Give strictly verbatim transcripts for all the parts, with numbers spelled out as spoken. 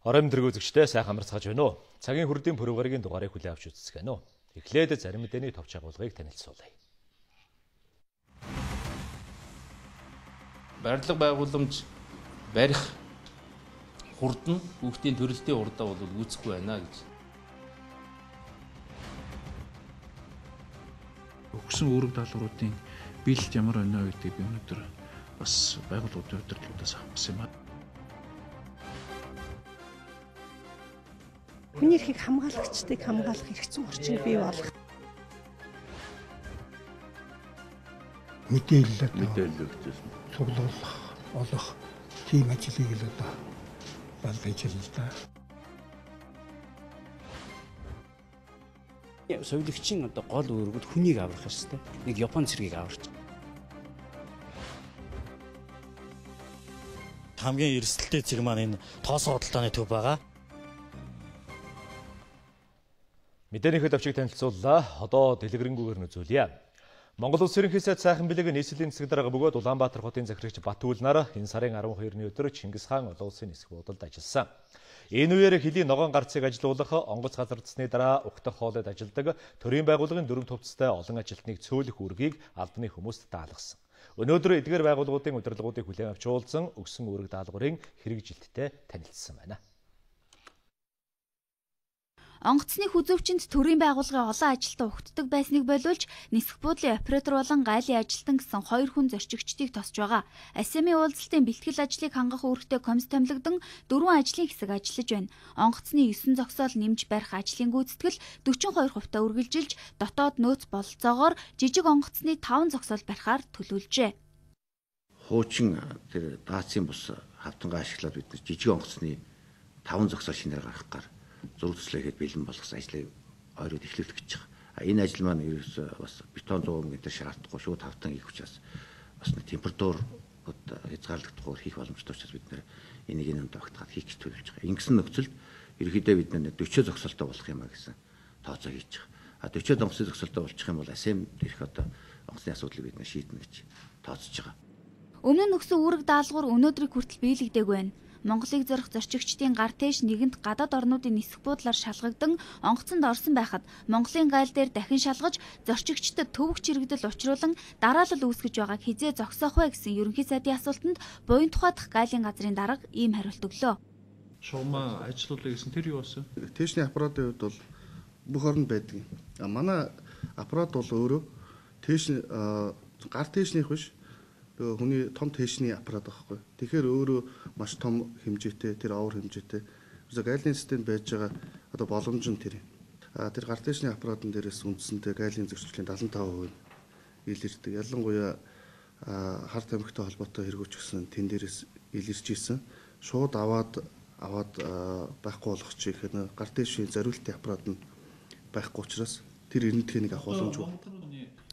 Орон тэмдэг үзэгчдээ сайхан амарцгааж байна уу? Цагийн хүрдийн пүрэвгаргийн дугаарыг хүлээн авч үзсэн гэнэ үү? Эхлээд зарим мэдээний товч агуулгыг танилцуулъя. Барилга байгууламж барих хурдан хүүхдийн төрөлтийн урдаа бол үүсэхгүй байна гэж. Өгсөн үүрэг даалгавруудын биелэлт ямар байна вэ гэдгийг би өнөөдөр бас байгууллагын удирдлагуудаас авсан юм аа. Хүний эрхийг хамгаалагчдыг хамгаалах хэрэгцээ орчныг бий болгох. Мэдээлэл мэдээлэл цуглуулах, олох тийм ажлыг л одоо бол байж л да. Соёлогчийн одоо гол үүрэгүүд хүнийг аврах ёстой. Нэг Япон цэргийг аварч. Хамгийн эрсдэлтэй цэг маань энэ тоосоо худалдааны төв байгаа. Мэдээний товчийг танилцууллаа. Одоо дэлгэрэнгээр нь үзүүлье. Монгол Улс ерөнхий сайд сайхан бэлэг нийслэлийн засаг дарга бөгөөд Улаанбаатар хотын захирагч Батүл нар энэ сарын арван хоёрны өдөр Чингис хаан олон улсын нисэх буудалд ажилласан. Энэ үеэр хөлийн ногоон гарцыг ажилуулах, онгоц газардсны дараа угтах хоолойд ажилдаг төрийн байгууллагын дөрвөн төвцтэй олон ажилтныг цөөлөх үүргийг албаны хүмүүст даалгасан. Өнөөдөр эдгээр байгууллагуудын удирдлагуудыг хүлээн авч уулзсан өгсөн үүрэг даалгаврын хэрэгжилттэй танилцсан байна. Онгоцны хүзөвчөнд төрийн байгууллагын олон ажилтан угтдаг байсныг болиулж нисэх буудлын оператор болон гайлын ажилтан гэсэн хоёр хүн зорчигчдыг тосч байгаа. эс эм и уулзалтын бэлтгэл ажлыг хангах үүрэгтэй комисс томилогдсон дөрвөн ажлын хэсэг ажиллаж байна. Онгоцны есөн зогсоол нэмж барих ажлын гүйцэтгэл дөчнө хоёр хувьтай үргэлжилж дотоод нөөц бололцоогоор жижиг онгоцны таван зогсоол барихаар төлөвлөжээ. Хуучин тэр даацын бус хавтангаа ашиглаад бид жижиг онгоцны таван зогсоол шинээр гаргах гар зураг төслөхэд бэлэн болгосон ажлыг ойроод эхлүүлэх гэж байгаа. Энэ ажил маань ерөөсөө бас бетон зуун гэдэг шаардахгүй шууд хавтан хийх учраас бас нэг температур хязгаарлагдахгүй хийх боломжтой учраас бид нэр энийг энэ тогтгаад хийх гэж төлөвлөж байгаа. Ингэсэн нөхцөлд ерөнхийдөө бид нэр дөрвөн зогсоолтой болох юм а гэсэн тооцоо хийж байгаа. А дөрвөн онгоцны зогсоолтой болчих юм бол эс эм дээрх одоо онгоцны асуудлыг бид нэр шийднэ гэж тооцож байгаа. Өмнө нь өгсөн үүрэг даалгавар өнөөдрийг хүртэл биелэгдээгүй байна. Монголыг зорих зорчигчдын гар тээш нэгэнт гадаад орнуудын нисэх буудлаар шалгагдан онгоцонд орсон байхад Монголын гайл дээр дахин шалгаж зорчигчдод төвөг чирэгдэл учруулан дараалал үүсгэж байгааг хизээ зогсоох вэ гэсэн ерөнхий сайдын асуултанд буян тухайдах гайлын газрын дарга ийм хариулт өглөө. Шугамаа ажилуулъя гэсэн тэр юу болсон? Тээшний аппаратын хувьд бол бүх оронд байдаг. А манай аппарат бол өөрөө тээш гар тээшнийх биш хүний том тээшний аппарат байхгүй. Тэгэхээр өөрөө маш том хэмжээтэй, тэр овор хэмжээтэй. Зөв гайлын системд байж байгаа одоо боломж нь тэр. А тэр гар тээшний аппаратын дээрээс үндсэндээ гайлын зөрчлийн дадлан таван хувь илэрдэг. Ялангуяа харт тамхитай холбоотой хэрэгүүч гэсэн тэн дээрээс илэрч исэн. Шууд аваад аваад байхгүй болгочих гэх нь гар тээшний зориултын аппарат нь байхгүй учраас тэр эрдэнэтхийг авах боломжгүй.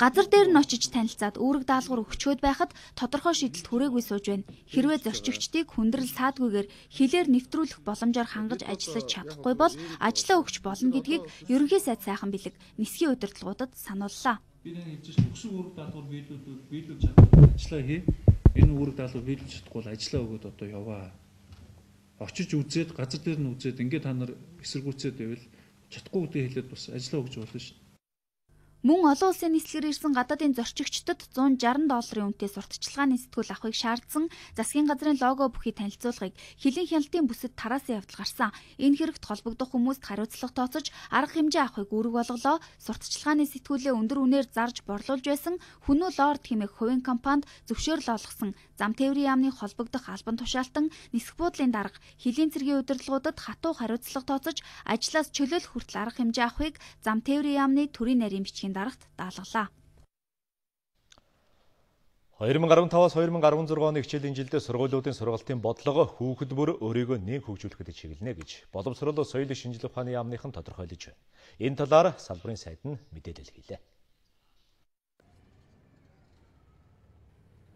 Газар дээр нь очиж танилцаад үүрэг даалгавар өгчөөд байхад тодорхой шийдэлт хүрээгүй сууж байна. Хэрвээ зорчигчдыг хүндрэл саадгүйгээр хилээр нэвтрүүлэх боломжоор хангаж ажиллаж чадахгүй бол ажлаа өгч болно гэдгийг ерөнхий сайд сайхан бэлэг нисхийн удирдлагуудад санууллаа. Би нэг хэлж өгсөн үүрэг даалгавар биелүүлвэл биелүүлж чадахгүй ажлаа хий. Энэ үүрэг даалгавар биелүүлж чадахгүй бол ажлаа өгөөд одоо яваа. Очиж үзээд газар дээр нь үзээд ингээд та нар эсэргүүцээд байвал чадахгүй гэдээ хэлээд бас ажлаа өгч болно шүү. Мөн олон улсын нислэгээр ирсэн гадаадын зорчигчдод зуун жарган долларын үнэтэй сурталчилгааны сэтгүүл авахыг шаардсан засгийн газрын лого бүхий танилцуулгыг хилийн хяналтын бүсэд тараасан явдал гарсан. Энэ хэрэгт холбогдох хүмүүст хариуцлага тооцож арга хэмжээ авахыг үүрэг болголоо. Сурталчилгааны сэтгүүлээ өндөр үнээр зарж борлуулж байсан Хүнүү Лорд хэмээх хувийн компанид зөвшөөрөл олгосон зам тээврийн яамны холбогдох албан тушаалтан нисэх буудлын дарга хилийн цэргийн удирдлагуудад хатуу хариуцлага тооцож ажлаас чөлөөлөх хүртэл арга хэмжээ авахыг зам тээврийн яамны төрийн нарийн бичгийн дарагт даалгалаа. хоёр мың арван таваас хоёр мың арван зургааны хичээлийн жилдээ сургуулиудын сургалтын бодлого хүүхэд бүр өөрийгөө нээн хөгжүүлэхэд чиглэнэ гэж боловсрол соёлын шинжилгээ ухааны яамныхан тодорхойлож байна. Энэ талаар салбарын сайд нь мэдээлэл хийлээ.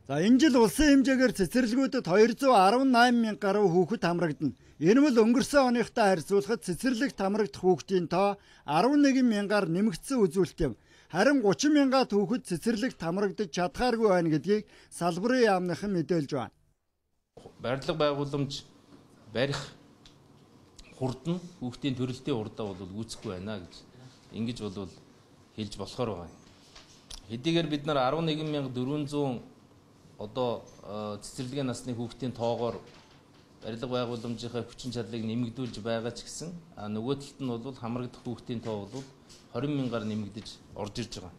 За энэ жил улсын хэмжээгээр цэцэрлэгүүдэд хоёр зуун арван найман мянга гаруй хүүхэд хамрагдана. Энэ мөл өнгөрсөн оныхтой харьцуулахад цэцэрлэгт хамрагдах хүүхдийн тоо арван нэгэн мянгаар нэмэгдсэн үзүүлэлт юм. Харин гучин мянгаад хүүхэд цэцэрлэгт хамрагдаж чадхааргүй байна гэдгийг салбарын яамныхан мэдээлж байна. Барилга байгууламж барих хурдан хүүхдийн төрөлтийн урдаа бол үүсэхгүй байна гэж ингэж бол хэлж болохоор байгаа. Хэдийгээр бид нар арван нэгэн мянга дөрвөн зуун одоо цэцэрлэгийн насны хүүхдийн тоогоор барилга байгууламжийнхаа хүчин чадлыг нэмэгдүүлж байгаа ч гэсэн нөгөө талд нь бол хамрагдах хүүхдийн тоо бол хорин мянгаар нэмэгдэж орж ирж байгаа.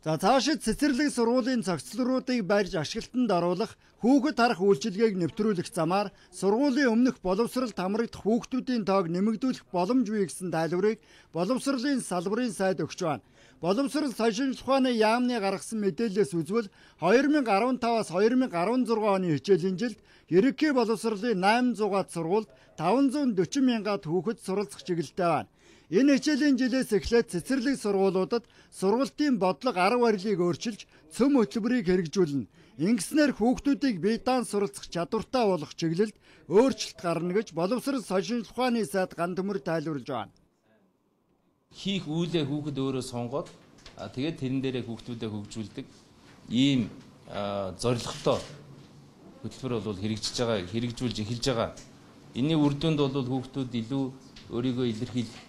За цаашид цэцэрлэг сургуулийн цогцлоруудыг барьж ашиглалтанд оруулах, хүүхэд харах үйлчилгээг нэвтрүүлэх замаар сургуулийн өмнөх боловсролд хамрагдах хүүхдүүдийн тоог нэмэгдүүлэх боломж бий гэсэн тайлбарыг боловсролын салбарын сайд өгч байна. Боловсрол сонирхол ухааны яамны гаргасан мэдээлэлээс үзвэл хоёр мянга арван таваас хоёр мянга арван зургаан оны хичээлийн жилд ерөнхий боловсролын восемь сая сургуульд таван зуун дөрвөн мянгаад хүүхэд суралцах чиглэлтэй байна. Энэ хичээлийн жилээс эхлээд цэцэрлэг сургуулиудад сургалтын бодлого арга барилыг өөрчилж цөм хөтөлбөрийг хэрэгжүүлнэ. Ингэснээр хүүхдүүдийг бие даан суралцах чадвартай болгох чиглэлд өөрчлөлт гарна гэж боловсрол сонирхол ухааны сайд Ган Төмөр тайлбарлаж байна. Хийх үйлээ хүүхэд өөрөө сонгоод тэгээд тэрэн дээрээ хүүхдүүдэд хөгжүүлдэг ийм зорилготой хөтөлбөр бол хэрэгжиж байгаа, хэрэгжүүлж эхэлж байгаа. Энийн үр дүнд бол хүүхдүүд илүү өөрийгөө илэрхийлэх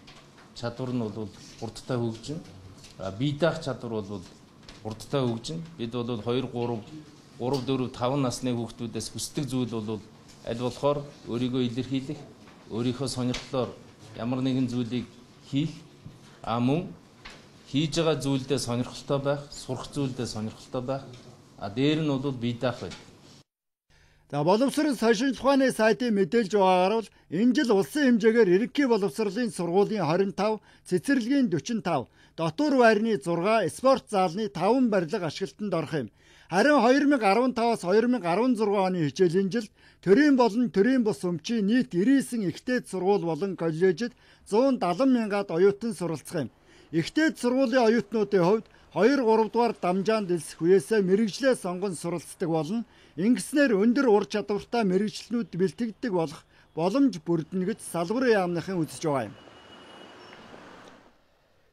чадвар нь бол хурдтай хөгжинэ. Бие даах чадвар бол хурдтай хөгжинэ. Бид бол хоёр, гурав, дөрөв, таван насны хүүхдүүдээс хүсдэг зүйл бол аль болохоор өөрийгөө илэрхийлэх, өөрийнхөө сонирхлоор ямар нэгэн зүйлийг хийх, а мөн хийж байгаа зүйлдээ сонирхолтой байх, сурах зүйлдээ сонирхолтой байх. А дээр нь бол бие даах байдаг. За боловсрол сонирхол ухааны сайтын мэдээлж байгаагаар бол энэ жил улсын хэмжээгээр ерөнхий боловсролын сургуулийн хорин тав, цэцэрлэгийн дөрвөн тав, дотуур байрны зургаан, спорт заалны таван барилга ашиглалтанд орох юм. Харин хоёр мянга арван таваас хоёр мянга арван зургаан оны хичээлийн жилд төрийн болон төрийн бус өмчийн нийт девяносто ихтэйд сургууль болон коллежид зуун дадлан мянгаад оюутан суралцах юм. Ихтэйд сургуулийн оюутнуудын хувьд хоёр, гурав дугаар дамжаанд элсэх үеэсээ мэрэгжлээ сонгон суралцдаг болно. Ингэснээр өндөр ур чадвартай мэрэгчлэнүүд бэлтгэгддэг болох боломж бүрдэнэ гэж салбарын яамныхан үзэж байгаа юм.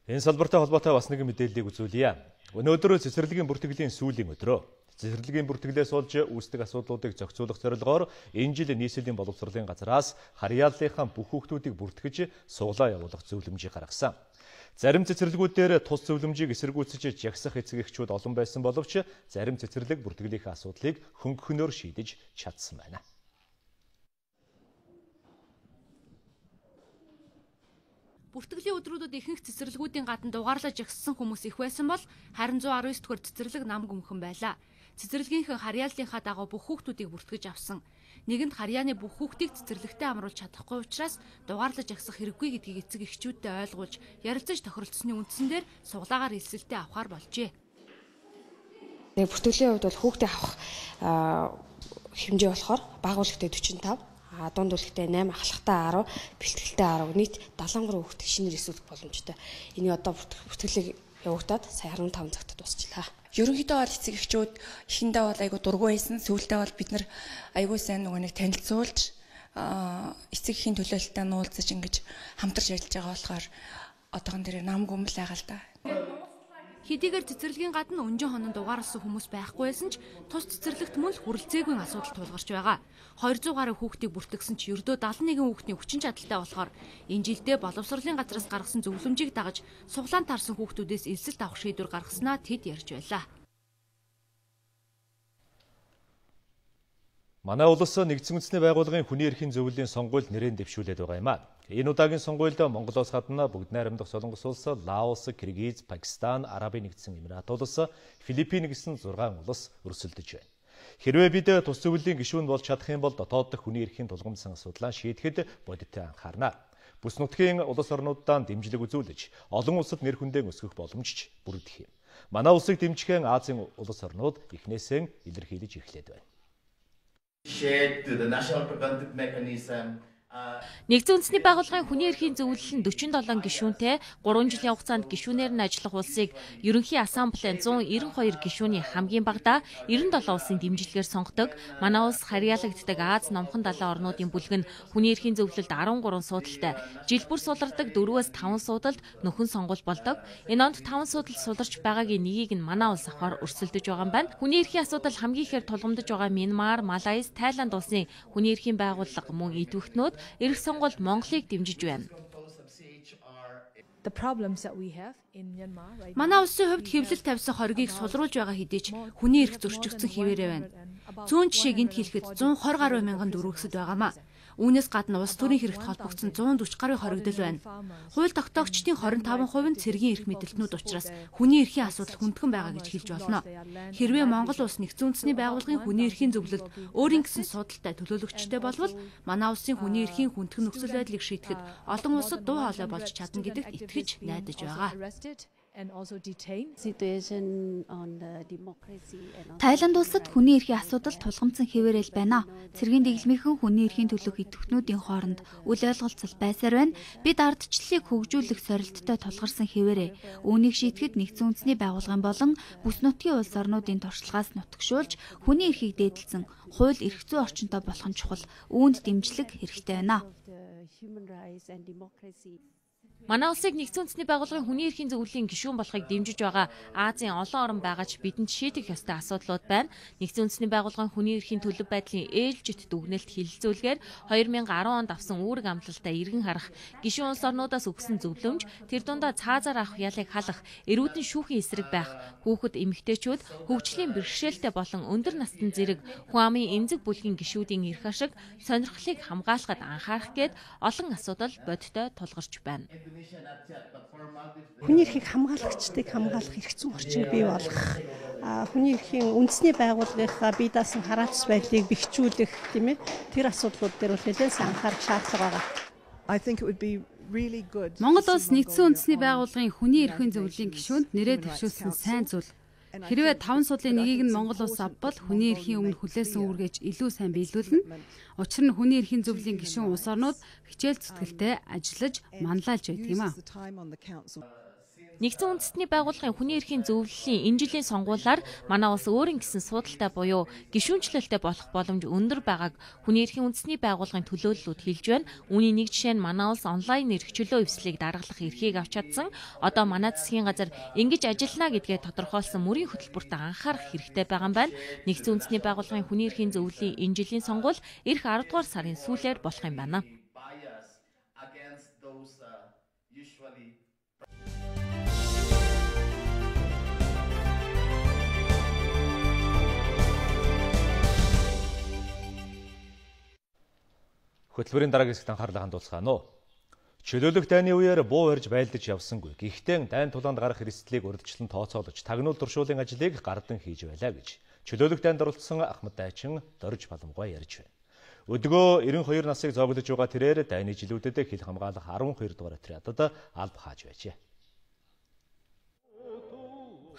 Энэ салбартай холбоотой бас нэгэн мэдээллийг үзүүлье. Өнөөдөр цэцэрлэгийн бүртгэлийн сүүлийн өдрөө. Цэцэрлэгийн бүртгэлээс олж үүсдэг асуудлуудыг зохицуулах зорилгоор энэ жил нийслэлийн боловсролын газраас харьяаллынхаа бүх хүүхдүүдийг бүртгэж суглаа явуулах зөвлөмжийг гаргасан. Зарим цэцэрлэгүүдээр тус зөвлөмжийг эсэргүүцэж жагсах эцэг эхчүүд олон байсан боловч зарим цэцэрлэг бүртгэлийнхээ асуудлыг хөнгөнөөр шийдэж чадсан байна. Бүртгэлийн өдрүүдэд ихэнх цэцэрлэгүүдийн гадна дугаарлаж жагссан хүмүүс их байсан бол харин зуун арван дэх цэцэрлэг нам гүмхэн байлаа. Цэцэрлэгийнхэн харьяаллынхаа дагуу бүх хүүхдүүдийг бүртгэж авсан. Нэгэнд харьяаны бүх хүүхдийг цэцэрлэгтээ амруулж чадахгүй учраас дугаарлаж жагсах хэрэггүй гэдгийг эцэг эхчүүдтэй ойлгуулж ярилцаж тохиролцсны үндсэн дээр суглаагаар элсэлтэд авахар болжээ. Нэг бүртгэлийн хувьд бол хүүхдээ авах хэмжээ болохоор бага үлгтэй дөрвөн тав, дунд үлгтэй восемь, ахлахтай арав, бэлтгэлтэй арав, нийт дадлан гурван хүүхдийг шинээр эсвэлэх боломжтой. Энийг одоо бүртгэлийг явагдаад сая арван таван цагт дуусчлаа. Ерөнхийдөө бол эцэг эхчүүд эхэндээ бол айгу дургүй байсан. Сүүлдээ бол бид нар айгу сайн нөгөө нэг танилцуулж эцэг эхийн төлөөлөлтөд нуулзаж ингэж хамтарч ажиллаж байгаа болохоор одоогон дээр нам гүмэл байгаа л да. Хэдийгээр цэцэрлэгийн гадна өнжин хонон дугаарлсан хүмүүс байхгүй байсан ч тус цэцэрлэгт мөн л хүрэлцээгүй асуудал тулгарч байгаа. хоёр зуун гаруй хүүхдийг бүртгэсэн ч ердөө дадлан нэгэн хүүхдийн хүчин чадалтай болохоор энэ жилдээ боловсролын газраас гаргасан зөвлөмжийг дагаж суглаан таарсан хүүхдүүдээс элсэлт авах шийдвэр гаргаснаа тэд ярьж байлаа. Манай улс нэгдсэн үндэсний байгууллагын хүний эрхийн зөвлөлийн сонгуульд нэрээр дэвшүүлээд байгаа юм а. Энэ удаагийн сонгуульд Монголоос гадна бүгд найрамдах Солонгос улс, Лаос, Киргиз, Пакистан, Арабын нэгдсэн Эмират улс, Филиппин гэсэн зургаан улс өрсөлдөж байна. Хэрвээ бид тус зөвлөлийн гишүүн болж чадах юм бол дотоод дох хүний эрхийн тулгамдсан асуудлаа шийдэхэд бодиттой анхаарна. Бүс нутгийн улс орнуудаа дэмжлэг үзүүлж, олон улсад нэр хүндээ өсгөх боломжч бүрдэх юм. Манай улсыг дэмжихэн Азийн улс орнууд эхнээсээ илэрхийлж эхлээд байна. Нэгдсэн үндэсний байгууллагын хүний эрхийн зөвлөл нь дөрвөн долоон гишүүнтэй гурван жилийн хугацаанд гишүүнээр нь ажиллах улсыг ерөнхий ассамблеийн зуун девяносто хоёр гишүүний хамгийн багадаа девяносто долоон улсын дэмжлэгээр сонгодог. Манай улс харьяалагддаг Аз номхон далайн орнуудын бүлэг нь хүний эрхийн зөвлөлд арван гурван суудалтай, жил бүр сулардаг дөрвөөс таван суудалд нөхөн сонгуул болдог. Энэ онд таван суудал суларч байгаагийн нэгийг нь манай улс авахар өрсөлдөж байгаа юм байна. Хүний эрхийн асуудал хамгийн ихээр тулгамдж байгаа Мянмар, Малайз, Тайланд улсын хүний эрхийн байгууллага мөн идэвхтнүүд эрх сонгуул Монголыг дэмжиж байна. Манай улсын хувьд хэвлэл тавьсан хоргийг сулруулж байгаа хэдий ч хүний эрх зөрчигдсөн хിവэрэ байна. Зүүн жишээ гинт хэлэхэд зуун хорь гаруй мянган дөрвөгсөд байгаамаа. Үүнээс гадна улс төрийн хэрэгт холбогдсон зуун дөрвөн гаруй хоригдол байна. Хууль тогтоогчдын хорин таван хувь нь цэргийн эрх мэдэлтнүүд учраас хүний эрхийн асуудал хүндхэн байгаа гэж хэлж болно. Хэрвээ Монгол улс нэгдсэн үндэсний байгууллагын хүний эрхийн зөвлөлд өөрийн гэсэн судалтай төлөөлөгчтэй болвол манай улсын хүний эрхийн хүндхэн нөхцөл байдлыг шийдэхэд олон улсад дуу хоолой болж чадна гэдэгт итгэж найдаж байгаа. Тайланд улсад хүний эрхийн асуудал тулгамдсан хэвээрэл байна. Цэргийн дэглэмийнхэн хүний эрхийн төлөөх идэвхтнүүдийн хооронд үл ойлголцол байсаар байна. Бид ардчлалыг хөгжүүлэх сорилттой тулгарсан хэвээрээ. Үүнийг шийдэхэд нэгдсэн үндэсний байгууллагын болон бүс нутгийн улс орнуудын туршлагаас нутагшуулж хүний эрхийг дээдэлсэн хууль эрх зүйн орчинтой болох нь чухал. Үүнд дэмжлэг хэрэгтэй байна. Манай улсыг нэгдсэн үндэсний байгууллагын хүний эрхийн зөвлөлийн гишүүн болохыг дэмжиж байгаа Азийн олон орн байгаа ч бидэнд шийдэх ёстой асуудлууд байна. Нэгдсэн үндэсний байгууллагын хүний эрхийн төлөв байдлын ээлжит дүгнэлт хилэлцүүлгээр хоёр мянган арван онд авсан үүрэг амлалтаа эргэн харах, гишүүн улс орнуудаас өгсөн зөвлөмж, тэр дундаа цаазаар авах ялыг халах, эрүүдэн шүүхийн эсрэг байх, хүүхэд эмэгтэйчүүд хөгжлийн бэрхшээлтэй болон өндөр настан зэрэг хүн амын эмзэг бүлгийн гишүүдийн эрх ашиг, сонирхлыг хамгаалахад анхаарах гээд олон асуудал бодиттой тулгарч байна. Хүний эрхийг хамгаалагчдыг хамгаалах эрх зүйн орчин бий болгох, хүний эрхийн үндэсний байгууллагынхаа бие даасан хараацс байдлыг бэхжүүлэх тийм ээ тэр асуудлууд дээр бол нэлээд сайн анхаарах шаардлага байгаа. Монгол улс нэгдсэн үндэсний байгууллагын хүний эрхийн зөвлөлийн гишүүнд нэрээ дэвшүүлсэн сайн зүйл. Хэрвээ таван судлын нэгийг нь Монгол улс авбал хүний эрхийн өмнө хүлээсэн үүргэж илүү сайн биелүүлнэ. Учир нь хүний эрхийн зөвлөлийн гишүүн улс орнууд хичээл зүтгэлтэй ажиллаж манлайлж байдаг юм а. Нэгдсэн үндэсний байгууллагын хүний эрхийн зөвлөлийн энэ жилийн сонгуулиар манай улс өөрийн гэсэн судалтай буюу гишүүнчлэлтэй болох боломж өндөр байгааг хүний эрхийн үндэсний байгууллагын төлөөллүүд хэлж байна. Үүний нэг жишээ нь манай улс онлайн эрх чөлөө эвслийг даргалах эрхийг авч чадсан. Одоо манай засгийн газар ингэж ажиллана гэдгээ тодорхойлсон мөрийн хөтөлбөрт анхаарах хэрэгтэй байгаа юм байна. Нэгдсэн үндэсний байгууллагын хүний эрхийн зөвлөлийн энэ жилийн сонгуул эх арав дугаар сарын сүүлээр болох юм байна. Хөтөлбөрийн дараагийн хэсэгт анхаарлаа хандуулцгаана уу. Чөлөөлөх дайны үеэр буу барьж байлдаж явсангүй. Гэхдээ дайн тулаанд гарах эрсдлийг урьдчилан тооцоолож, тагнуул туршуулын ажлыг гардан хийж байлаа гэж чөлөөлөх дайнд оролцсон Ахмад Дайчин Дорж Баламгай ярьж байна. Өдгөө эрен хоёр насыг зоглож байгаа тэрээр дайны жилүүдэд хил хамгаалах арван хоёр дугаар отрядад алба хааж байжээ.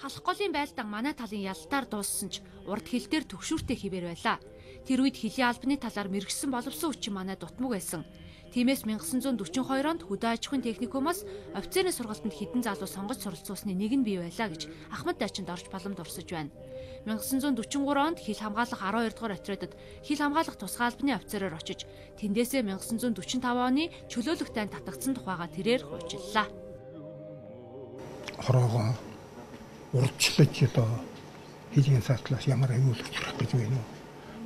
Халах голын байлдаан манай талын ялтаар дууссан ч урд хил дээр төгшүүртэй хിവэр байлаа. Тэр үед хилийн албаны талаар мэрэгсэн боловсон хүчин манай дутмаг байсан. Тиймээс мянга девять жүз дөрвөн хоёр онд хөдөө аж ахуйн техникумаас офицерийн сургалтанд хэдэн залуу сонгож суралцуулсны нэг нь бий байлаа гэж Ахмад Дайчин Дорж Баламд урсаж байна. мянга девять жүз дөрвөн гурван онд хил хамгаалах арван хоёр дугаар отрядад хил хамгаалах тусгай албаны офицероор очиж тэндээсээ мянга девять жүз дөрвөн таван оны чөлөөлөх дайнд татагдсан тухайга тэрээр хуучиллаа. Хороогоо урдчлаж одоо хилийн сатлаас ямар аюулгч гарах гэж байна уу?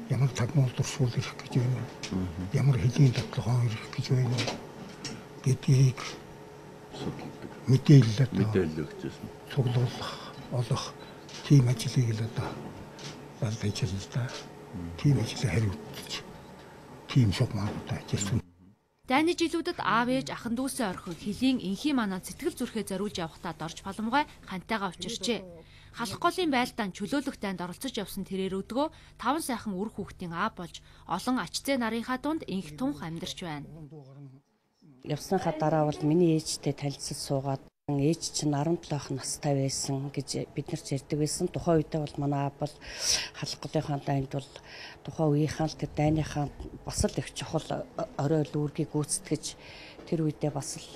Ямар тагнуул туршуул ирэх гэж байна уу? Ямар хилийн дадлогоо ирэх гэж байна уу? Гэдгийг мэдээлэл мэдээлэл өгчээсэн. Цуглуулах, олох тийм ажлыг л одоо бэлдэж байна. Тийм ажлыг хариуцж, тийм шугамтай ажилласан. Дайны жилүүдэд аав ээж ахын дүүсээ орхив хилийн энхийн манаа сэтгэл зүрхээ зориулж явахдаа Дорж Баламгай хантайгаа учирчээ. Халах голын байлдаан чөлөөлөх дайнд оролцож явсан тэрээр өдгөө таван сайхан үр хүүхдийн аав болж олон ачцээ нарынхаа дунд инх тунх амьдарч байна. Явсныхаа дараа бол миний ээжтэй танилцаж суугаад ээж чинь арван долоох настай байсан гэж бид нар ярьдаг байсан. Тухайн үедээ бол манай аав бол халах голынхаа дайнд бол тухайн үеийнхаа л тэр дайныхаа бас л их чухал орой лүүргийг гүйцэтгэж тэр үедээ бас л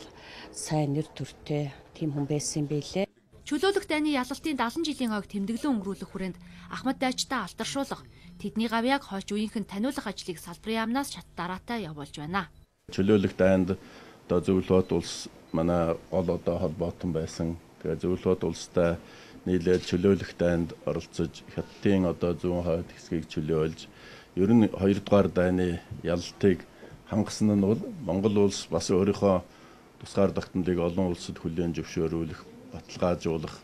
сайн нэр төртэй тийм хүн байсан юм билээ. Чөлөөлөх дайны ялалтын дагалан жилийн ойг тэмдэглэн өнгөрүүлэх хүрээнд Ахмад Дайчтай алдаршуулах, тэдний гавьяаг хойч үеийнхэн таниулах ажлыг салбарын яамнаас шат дараатай явуулж байна. Чөлөөлөх дайнд одоо зөвлөлт улс манай гол одоо холбоотон байсан. Тэгээ зөвлөлт улстай нийлээд чөлөөлөх дайнд оролцож хятадын одоо зүүн хойд хэсгийг чөлөөлж, ер нь хоёр дугаар дайны ялалтыг хангасан нь бол Монгол улс бас өөрийнхөө тусгаар тогтнолыг олон улсад хүлээн зөвшөөрүүлэх, баталгаажуулах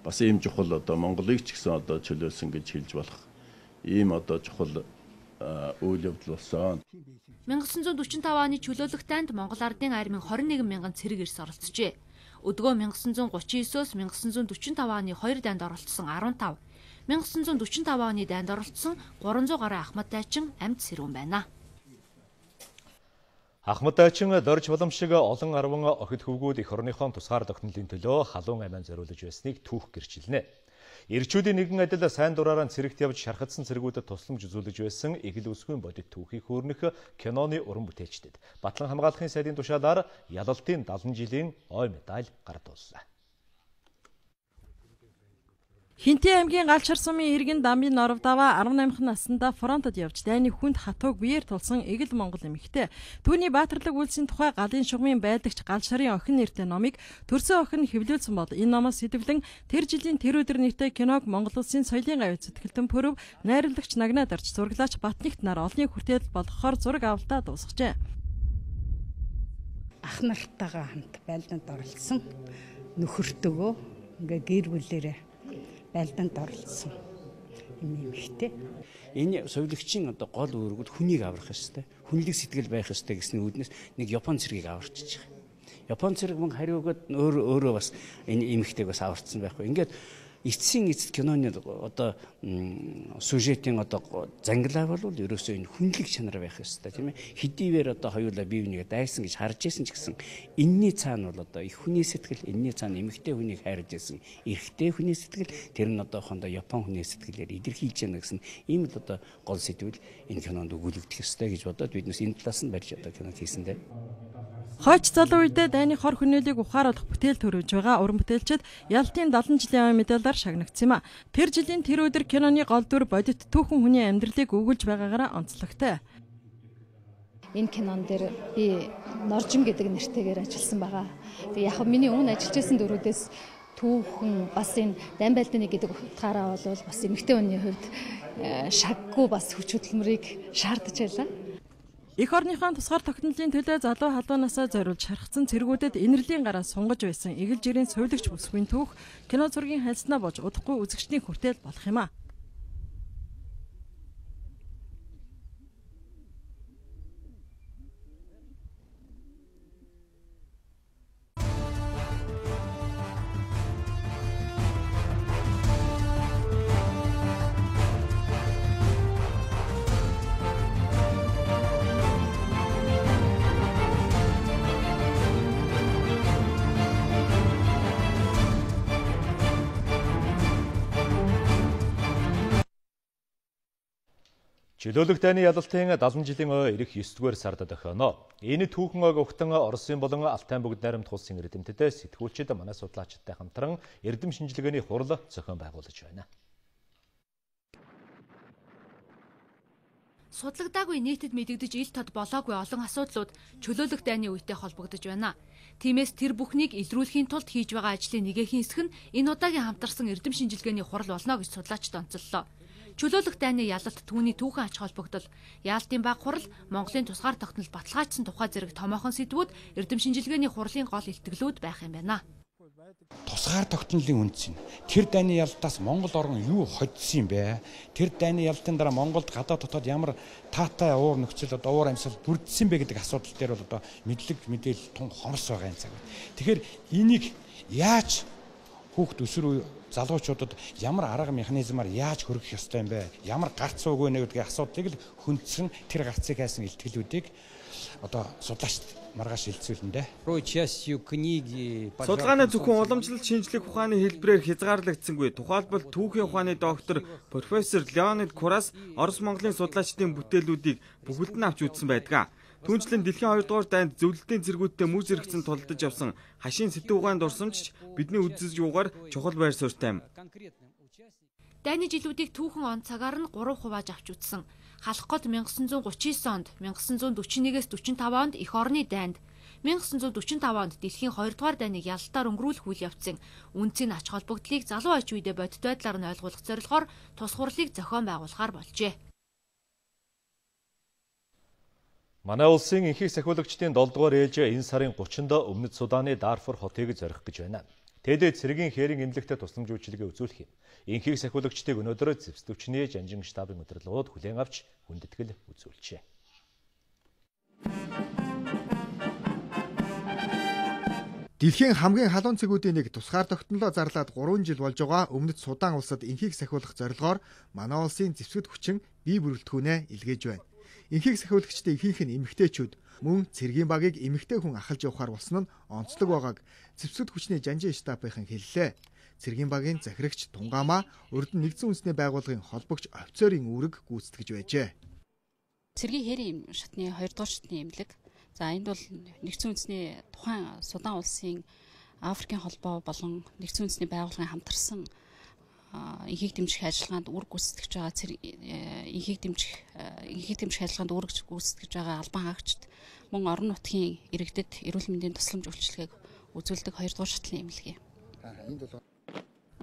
бас ийм чухал одоо Монголыг ч гэсэн одоо чөлөөлсөн гэж хэлж болох ийм одоо чухал үйл явдал болсон. 천구백사십오 оны чөлөөлөх танд Монгол ардын армийн двадцать one мянган цэрэг эрс оролцжээ. Өдгөө 천구백39-с 천구백사십오 оны хоёр дайнд оролцсон дөрвөн, 천구백사십오 оны дайнд оролцсон гурван зуун гаруй Ахмад дайчин амьд сэрүүн байна. Ахмад дайчин дорж боломжиг олон арван охид хөвгүүд эх орныхон тусгаар тогтнолын төлөө халуун аймаан зориулж байсныг түүх гэрчилнэ. Ирчүүдийн нэгэн адил сайн дураараа цэрэгт явж шархадсан цэргүүдэд тусламж үзүүлж байсан эгэл үсгийн бодит түүхийг хөөрнөх киноны уран бүтээлчдэд Батлан хамгаалахын сайдын тушаалаар ялалтын дагалан жилийн ой медаль гардууллаа. Хинтээ аймгийн Галчар сумын иргэн дамбын норов даваа дөрвөн наснда фронтод явж дайны хүнд хатууг биеэр тулсан эгэл монгол эмэгтэй. Түүний баатарлаг үйлсийн тухай галын шугамын байдагч Галшарын охин нэртэй номыг төрсөн охин хэвлүүлсэн бол энэ номоос сэтвлэн тэр жилийн тэр өдөр нэртэй киног Монгол улсын соёлын гавь сэтгэлтэн пөрөв найруулагч Нагнаа дарж зураглаач Батнигт нар олонний хүртэл болгохоор зураг авалтаа дуусгажээ. Ах нартайгаа хамт байлдаанд оролцсон нөхөртөгөө ингээ гэр бүлээрээ байлдаанд оролцсон юм ихтэй. Энэ соёлогчийн одоо гол үүрэгүүд хүнийг аврах ёстой. Хүнлэг сэтгэл байх ёстой гэсний үүднээс нэг Япон цэргийг аварчиж байгаа. Япон цэрэг мөн хариугаад өөр өөрөө бас энэ эмэгтэйг бас аварцсан байхгүй. Ингээд эцсийн эцэд киноны одоо сюжетийн одоо зангилаа бол ерөөсөө энэ хүнлэг чанар байх ёстой тийм ээ. Хэдийгээр одоо хоёулаа бие бинийгээ дайсан гэж харж байсан ч гэсэн энэний цаана бол одоо их хүний сэтгэл, энэний цаана эмэгтэй хүнийг хайрж байсан эрэгтэй хүний сэтгэл, тэр нь одоо хондоо Япон хүний сэтгэлээр илэрхийлж яана гэсэн ийм л одоо гол сэдвүүл энэ кинонд өгүүлэгдэх ёстой гэж бодоод биднес энэ талаас нь барьж одоо кино хийсэн дээ. Хойч залуу үедээ дайны хор хүнээлийг ухааруулах бүтээл төрөж байгаа уран бүтээлчид ялтын дагалан жилийн медалаар шагнагдсан юм а. Тэр жилийн тэр өдөр киноны гол дүр бодит түүхэн хүний амьдралыг өгүүлж байгаагаараа онцлогтой. Энэ кинон дээр би Норжин гэдэг нэртэйгээр ажилласан байгаа. Тэгээ яг миний өмнө ажиллаж байсан дөрүүдээс түүхэн бас энэ дайн байлдааны гэдэг утгаараа бол бас эмэгтэй хүний хувьд шаггүй бас хүч хөдөлмөрийг шаардж байлаа. Эх орныхон тусгаар тогтнолын төлөө залуу халуунасаа зориулж шархсан цэргүүдэд инэрлийн гараа сунгаж байсан эгэл жирийн сувилагч бүсгүйн түүх кино зургийн хайлснаа болж удахгүй үзэгчдийн хүртэл болох юм а. Чөлөөлөх дайны ялалтын дагалан жилийн ой ирэх ёсдугаар сард дохионо. Энэ түүхэн ойг угтан Оросын болон Алтай бүгд найрамд улсын эрдэмтэд сэтгүүлчид манай судлаачдтай хамтран эрдэм шинжилгээний хурал зохион байгуулж байна. Судлагдаагүй нийтэд мэдэгдэж ил тод болоогүй олон асуудлууд чөлөөлөх дайны үетэй холбогдож байна. Тиймээс тэр бүхнийг илрүүлэхийн тулд хийж байгаа ажлын нэгэхийн хэсэг нь энэ удаагийн хамтарсан эрдэм шинжилгээний хурал болно гэж судлаачид онцоллоо. Чөлөөлөх дайны ялалт түүний түүхэн ач холбогдол, яалтын баг хурал, Монголын тусгаар тогтнол баталгаажсан тухай зэрэг томоохон сэдвүүд эрдэм шинжилгээний хурлын гол илтгэлүүд байх юм байна. Тусгаар тогтнолын үндэс нь тэр дайны ялалтаас Монгол орн юу хоцсон юм бэ? Тэр дайны ялалтын дараа Монголд гадаа дотоод ямар таатай уур нөхцөл одоо уур амьсгал бүрдсэн бэ гэдэг асуудал дээр бол одоо мэдлэг мэдээлэл тун хомс байгаа юм цаг. Тэгэхээр энийг яаж хүүхд өсвөр залуучуудад ямар арга механизмаар яаж хөргөх ёстой юм бэ? Ямар гарц уугүй нэ гэдгийг асуудлыг л хүндсэн тэр гарцыг хайсан илтгэлүүдийг одоо судлаач маргааш хэлцүүлнэ. Судалгааны зөвхөн уламжлалт шинжлэх ухааны хэлбэрээр хязгаарлагдсангүй. Тухайлбал түүхийн ухааны доктор профессор Леонид Курас Орос Монголын судлаачдын бүтээлүүдийг бүхэлд нь авч үзсэн байдаг. Түүнчлэн дэлхийн хоёрдугаар дайнд зөвлөлтийн цэргүүдтэй мөн зэрэгцэн тулдаж явсан хашийн сэтэв ухааны дурсамж бидний үзэж юугаар чухал байр суурьтай юм. Дайны жилүүдийг түүхэн он цагаар нь гурав хувааж авч үзсэн. Халах гол 천구백사십구 онд, 천구백사십нэгээс45 онд эх орны дайнд, 천구백사십tab онд дэлхийн хоёрдугаар дайныг ялалтаар өнгөрүүлэх үйл явцын үндсийн ач холбогдлыг залуу аж үедээ бодит байдлаар нь ойлгуулах зорилгоор тус хурлыг зохион байгуулахаар болжээ. Манай улсын энхийг сахиулагчдын долдугаар ээлж энэ сарын гуравчнд Өмнөд Суданы Дарфур хотыг зорих гэж байна. Тэд цэргийн хээрийн эмнэлэгтээ тусламж үйлчилгээ үзүүлэх юм. Энхийг сахиулагчдыг өнөөдөр зэвсдэгчний жанжин штабын удирдлагууд хүлээн авч хүндэтгэл үзүүлжээ. Дэлхийн хамгийн халуун цэгүүдийн нэг тусгаар тогтнолоо зарлаад гурван жил болж байгаа Өмнөд Судан улсад энхийг сахиулах зорилгоор манай улсын зэвсгэд хүчин бие бүрэлдэхүүнээ илгээж байна. Энхийг сахиулагчдын ихэнх нь эмэгтэйчүүд мөн цэргийн багийг эмэгтэй хүн ахалж явахаар болсон нь онцлог байгааг зэвсгэд хүчний жанжин штабын хэллээ. Цэргийн багийн захирагч Тунгаамаа урд нь нэгдсэн үндэсний байгууллагын холбогч офицерын үүрэг гүйцэтгэж байжээ. Цэргийн хээрийн шатны хоёрдугаар шатны эмнэлэг. За энд бол нэгдсэн үндэсний тухайн Судан улсын Африкийн холбоо болон нэгдсэн үндэсний байгууллагын хамтарсан энхийг дэмжих ажиллагаанд үүрэг гүйцэтгэж байгаа энхийг дэмжих энхийг дэмжих ажиллагаанд үүрэг гүйцэтгэж байгаа албан хаагчид мөн орон нутгийн иргэдэд эрүүл мэндийн тусламж үйлчилгээг үзүүлдэг хоёрдугаар шатлын эмнэлэг юм.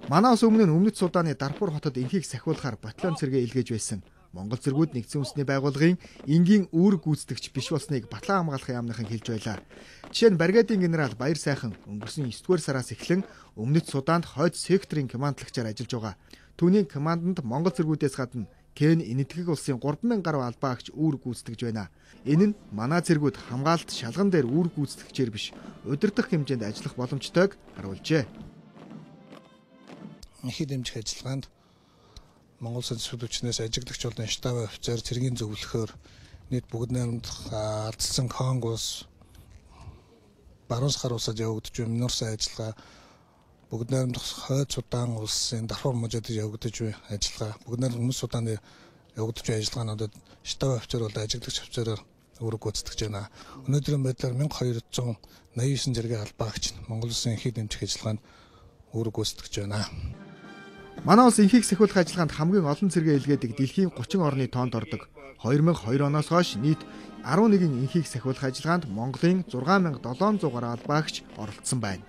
Манай улс өмнө нь Өмнөд Суданы Дарфур хотод энхийг сахиулахаар батальон цэргээ илгээж байсан. Монгол цэргүүд нэгдсэн үндэсний байгууллагын энгийн үүрэг гүйцэтгэгч биш болсныг батлан хамгаалахын яамныхан хэлж байлаа. Жишээ нь бригадын генерал Баяр сайхан өнгөрсөн есдүгээр сараас эхлэн Өмнөд Суданд хойд секторын командлагчаар ажиллаж байгаа. Түүний команданд Монгол цэргүүдээс гадна Кен энэтхэг улсын гурван мянган гаруй албаагч үүрэг гүйцэтгэж байна. Энэ нь манай цэргүүд хамгаалалт шалган дээр үүрэг гүйцэтгэгчээр биш, удирдах хэмжээнд ажиллах боломжтойг харуулжээ. Энхийг дэмжих ажиллагаанд Монгол Улсын хүчнээс ажиглагч болон штаб офицер цэргийн зөвлөхөөр нийт бүгд найрамдах алдсан Конгос баруун сахар улсад явагдаж буй минорсын ажиллагаа бүгд найрамдах хойд Судан улсын Дарфур мужид явагдаж буй ажиллагаа бүгд найрамдах Өмнөд Суданы явагдаж буй ажиллагаануудад штаб офицер болон ажиглагч офицероор үүрэг гүйцэтгэж байна. Өнөөдрийн байдлаар мянга хоёр зуун найман девять зэргийн албаагч Монгол Улсын энхийг дэмжих ажиллагаанд үүрэг гүйцэтгэж байна. Манай улс энхийг сахиулах ажиллагаанд хамгийн олон цэргээ илгээдэг дэлхийн гучин орны тоонд ордог. две тысячи two оноос хойш нийт eleven энхийг сахиулах ажиллагаанд Монголын six thousand seven hundred гаруй албаагч оролцсон байна.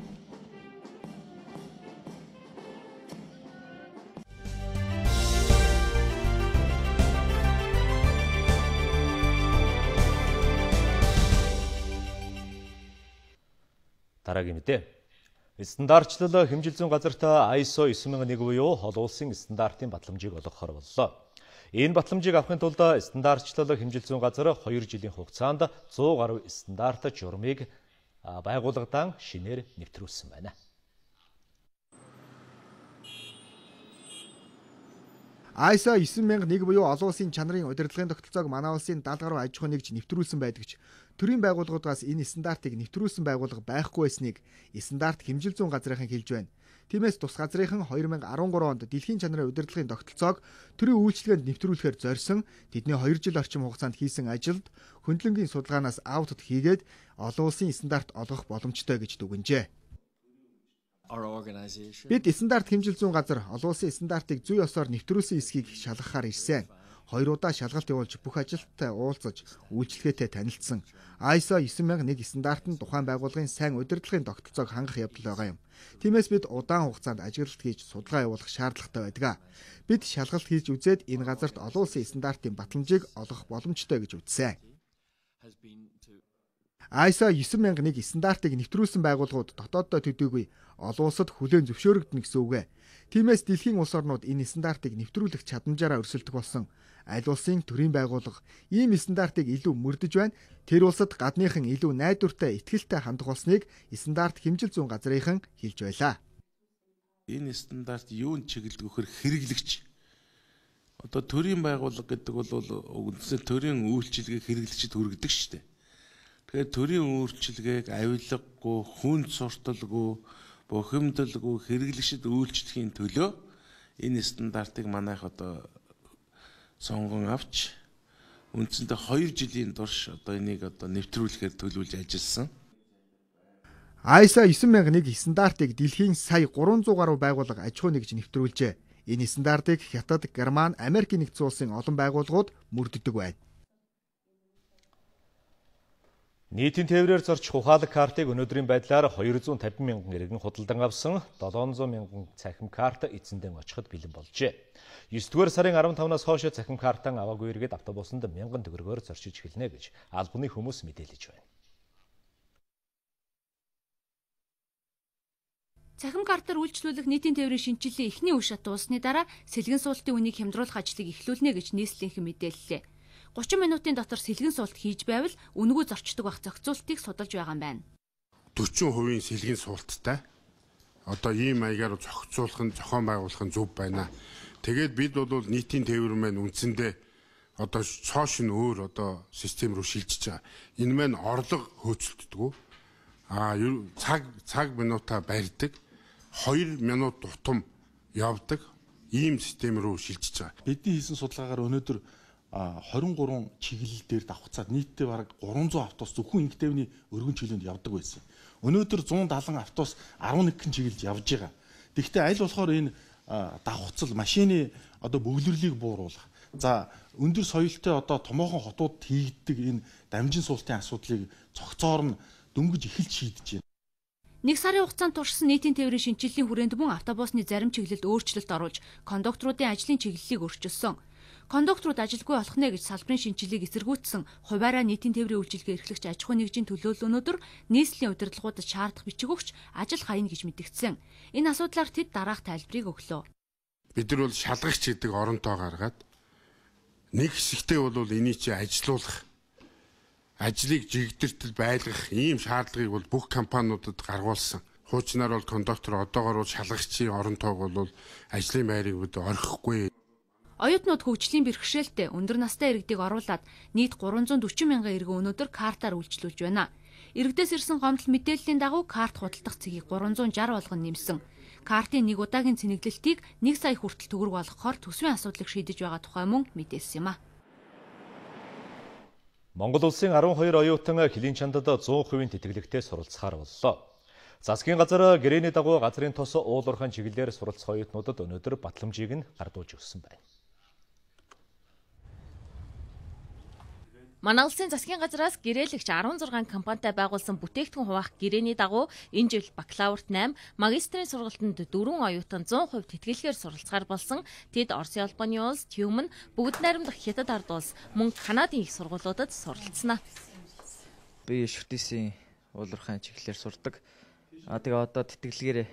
Дараагийн мэдээ. Стандартчлал хэмжил зүйн газарт ай эс о nine thousand one буюу олон улсын стандартын батламжийг олгохоор боллоо. Энэ батламжийг авахын тулд стандартчлал хэмжил зүйн газар two жилийн хугацаанд one hundred гаруй стандарт журмыг байгууллагадан шинээр нэвтрүүлсэн байна. ай эс о nine thousand one буюу олон улсын чанарын удирдлагын тогтолцоог манай улсын seventy гаруй аж ахуй нэгж нэвтрүүлсэн байдаг ч төрийн байгууллагуудаас энэ стандартыг нэвтрүүлсэн байгууллага байхгүй байсныг стандарт хэмжил зүйн газрынхан хэлж байна. Тиймээс тус газрынхан two thousand thirteen онд дэлхийн чанарын удирдлагын тогтолцоог төрийн үйлчилгээнд нэвтрүүлэхээр зорьсон тэдний two жил орчим хугацаанд хийсэн ажилд хөндлөнгийн судалгаанаас аудит хийгээд олон улсын стандарт олгох боломжтой гэж дүгнжээ. Бид стандарт хэмжил зүйн газар олон улсын стандартыг зүй ёсоор нэвтрүүлсэн эсхийг шалгахаар ирсэн. Хоёр удаа шалгалт явуулж бүх ажилтнтай уулзаж үйлчлэгээтэй танилцсан. ай эс о nine thousand one стандарт нь тухайн байгууллагын сайн удирдлагын тогтолцоог хангах явдал байгаа юм. Тиймээс бид удаан хугацаанд ажиглалт хийж судалгаа явуулах шаардлагатай байдаг. Бид шалгалт хийж үзээд энэ газарт олон улсын стандартын батламжийг олгох боломжтой гэж үзсэн. ай эс о nine thousand one стандартыг нэвтрүүлсэн байгууллагууд дотооддоо төдийгүй олон улсад хүлээн зөвшөөрөгдөн гэсэн үг ээ. Тиймээс дэлхийн улс орнууд энэ стандартыг нэвтрүүлэх чадамжаараа өрсөлдөх болсон. Аль улсын төрийн байгууллага ийм стандартыг илүү мөрдөж байна. Тэр улсад гадныхан илүү найдвартай, итгэлтэй хандах болсныг стандарт хэмжил зүйн газрынхан хэлж байлаа. Энэ стандарт юунд чиглэлд өгөхөр хэрэглэгч. Одоо төрийн байгууллага гэдэг бол үндсээ төрийн үйлчилгээг хэрэглэгчид хүргэдэг шүү дээ. Тэгэхээр төрийн үйлчилгээг авилгагүй, хүнд сурталгүй, бухимдалгүй хэрэглэгчид үйлчлэхийн төлөө энэ стандартыг манайх одоо сонгон авч үндсэндээ two жилийн турш одоо энийг одоо нэвтрүүлэхээр төлөвлөж ажилласан. ай эс о nine thousand one стандартыг дэлхийн сая three hundred гаруй байгууллага аж ахуй нэгж нэвтрүүлжээ. Энэ стандартыг Хятад, Герман, Америкийн нэгдсэн улсын олон байгууллагууд мөрддөг байна. Нийтийн тээврээр зорчих ухаалаг картыг өнөөдрийн байдлаар хоёр зуун тавин мянган иргэн худалдан авсан долоон зуун мянган цахим карт эзэндээ очиход бэлэн болжээ. есдүгээр сарын арван тавнаас хойш цахим картан аваагүй иргэд автобусанд мянган төгрөгөөр зорчиж эхэлнэ гэж албаны хүмүүс мэдээлж байна. Цахим картаар үйлчлүүлэх нийтийн тээврийн шинжилгээ эхний үе шат дуусны дараа сэлгэн суултын үнийг хямдруулах ажлыг эхлүүлнэ гэж нийслэлийнхэн мэдээллээ. гучин минутын дотор сэлгэн суулт хийж байвал үнэгүй зорчдог байх зохицуултыг судалж байгаа юм байна. дөрвөн хувийн сэлгэн суулттай одоо ийм маягаар зохицуулах нь зохион байгуулах нь зөв байна. Тэгээд бид бол нийтийн тээвэр маань үндсэндээ одоо цоош нь өөр одоо систем рүү шилжиж байгаа. Энэ маань орлого хөөцөлддөг. Аа цаг цаг минутаа барьдаг. хоёр минут дутам явдаг ийм систем рүү шилжиж байгаа. Бидний хийсэн судалгаагаар өнөөдөр хорин гурван чиглэл дээр давхцаад нийтдээ бараг гурван зуун автобус зөвхөн инх тээврийн өргөн чиглэлд явдаг байсан. Өнөөдөр зуун даалан автобус арван нэг чиглэлд явж байгаа. Тэгэхдээ аль болохоор энэ давхцал машины одоо бөглөрлийг бууруулах. За өндөр соёлтой одоо томоохон хотууд хийгддэг энэ дамжин суултын асуудлыг цогцоор нь дөнгөж эхэлж шийдэж байна. Нэг сарын хугацаанд туршсан нийтийн тээврийн шинжилгээний хүрээнд мөн автобусны зарим чиглэлд өөрчлөлт оруулж кондукторуудын ажлын чиглэлийг өөрчилсөн. Кондукторууд ажилгүй болох нэ гэж салбарын шинжилгээг эсэргүүцсэн хуваараа нийтийн тээврийн үйлчилгээ эрхлэгч аж ахуйн нэгжийн төлөөлөлөөнөөр нийслэлийн удирдлагуудад шаардах бичиг өгч ажил хаяна гэж мэдгдсэн. Энэ асуудлаар тэд дараах тайлбарыг өглөө. Бид нар бол шалгагч гэдэг оронтоо гаргаад нэг хэсэгтээ бол энийг чи ажилуулах ажлыг жигдэртэл байлгах ийм шаардлагыг бол бүх компаниудад гаргуулсан. Хуучнаар бол кондуктор одоогоор бол шалгагчийн оронтоог бол ажлын байрыг орхихгүй. Оюутнууд хөгжлийн бэрхшээлтэй өндөр настай иргэдийг оруулаад нийт гурван зуун дөрвөн мянган иргэн өнөөдөр картаар үйлчлүүлж байна. Иргэдээс ирсэн гомдол мэдээллийн дагуу карт худалдах цэгийг гурван зуун шарх болгон нэмсэн. Картын нэг удаагийн цэнэглэлтийг нэг сая хүртэл төгрөг болгохоор төсвийн асуудлыг шийдэж байгаа тухай мөн мэдээлсэн юм а. Монгол улсын арван хоёр оюутан Хилийн чандад зуун хувийн тэтгэлэгтээ суралцахаар боллоо. Засгийн газар гэрээний дагуу газрын тос уулуурхайн чиглэлээр суралцах оюутнуудад өнөөдөр батламжийг нь гардуулж өгсөн байна. Манай улсын засгийн газраас гэрээлэгч арван зургаан компанитай байгуулсан бүтээгдэхүүн хуваах гэрээний дагуу энэ жил бакалаврт восемь, магистрийн сургалтанд дөрвөн оюутан зуун хувь тэтгэлгээр суралцахаар болсон. Тэд Оросын албаны улс, Тюмэн, бүгд найрамдах Хятад ард улс, мөн Канадын их сургуулиудад суралцсанаа. Би шүтээсийн уулуурхайн чиглэлээр сурдаг. А тэгээ одоо тэтгэлгээр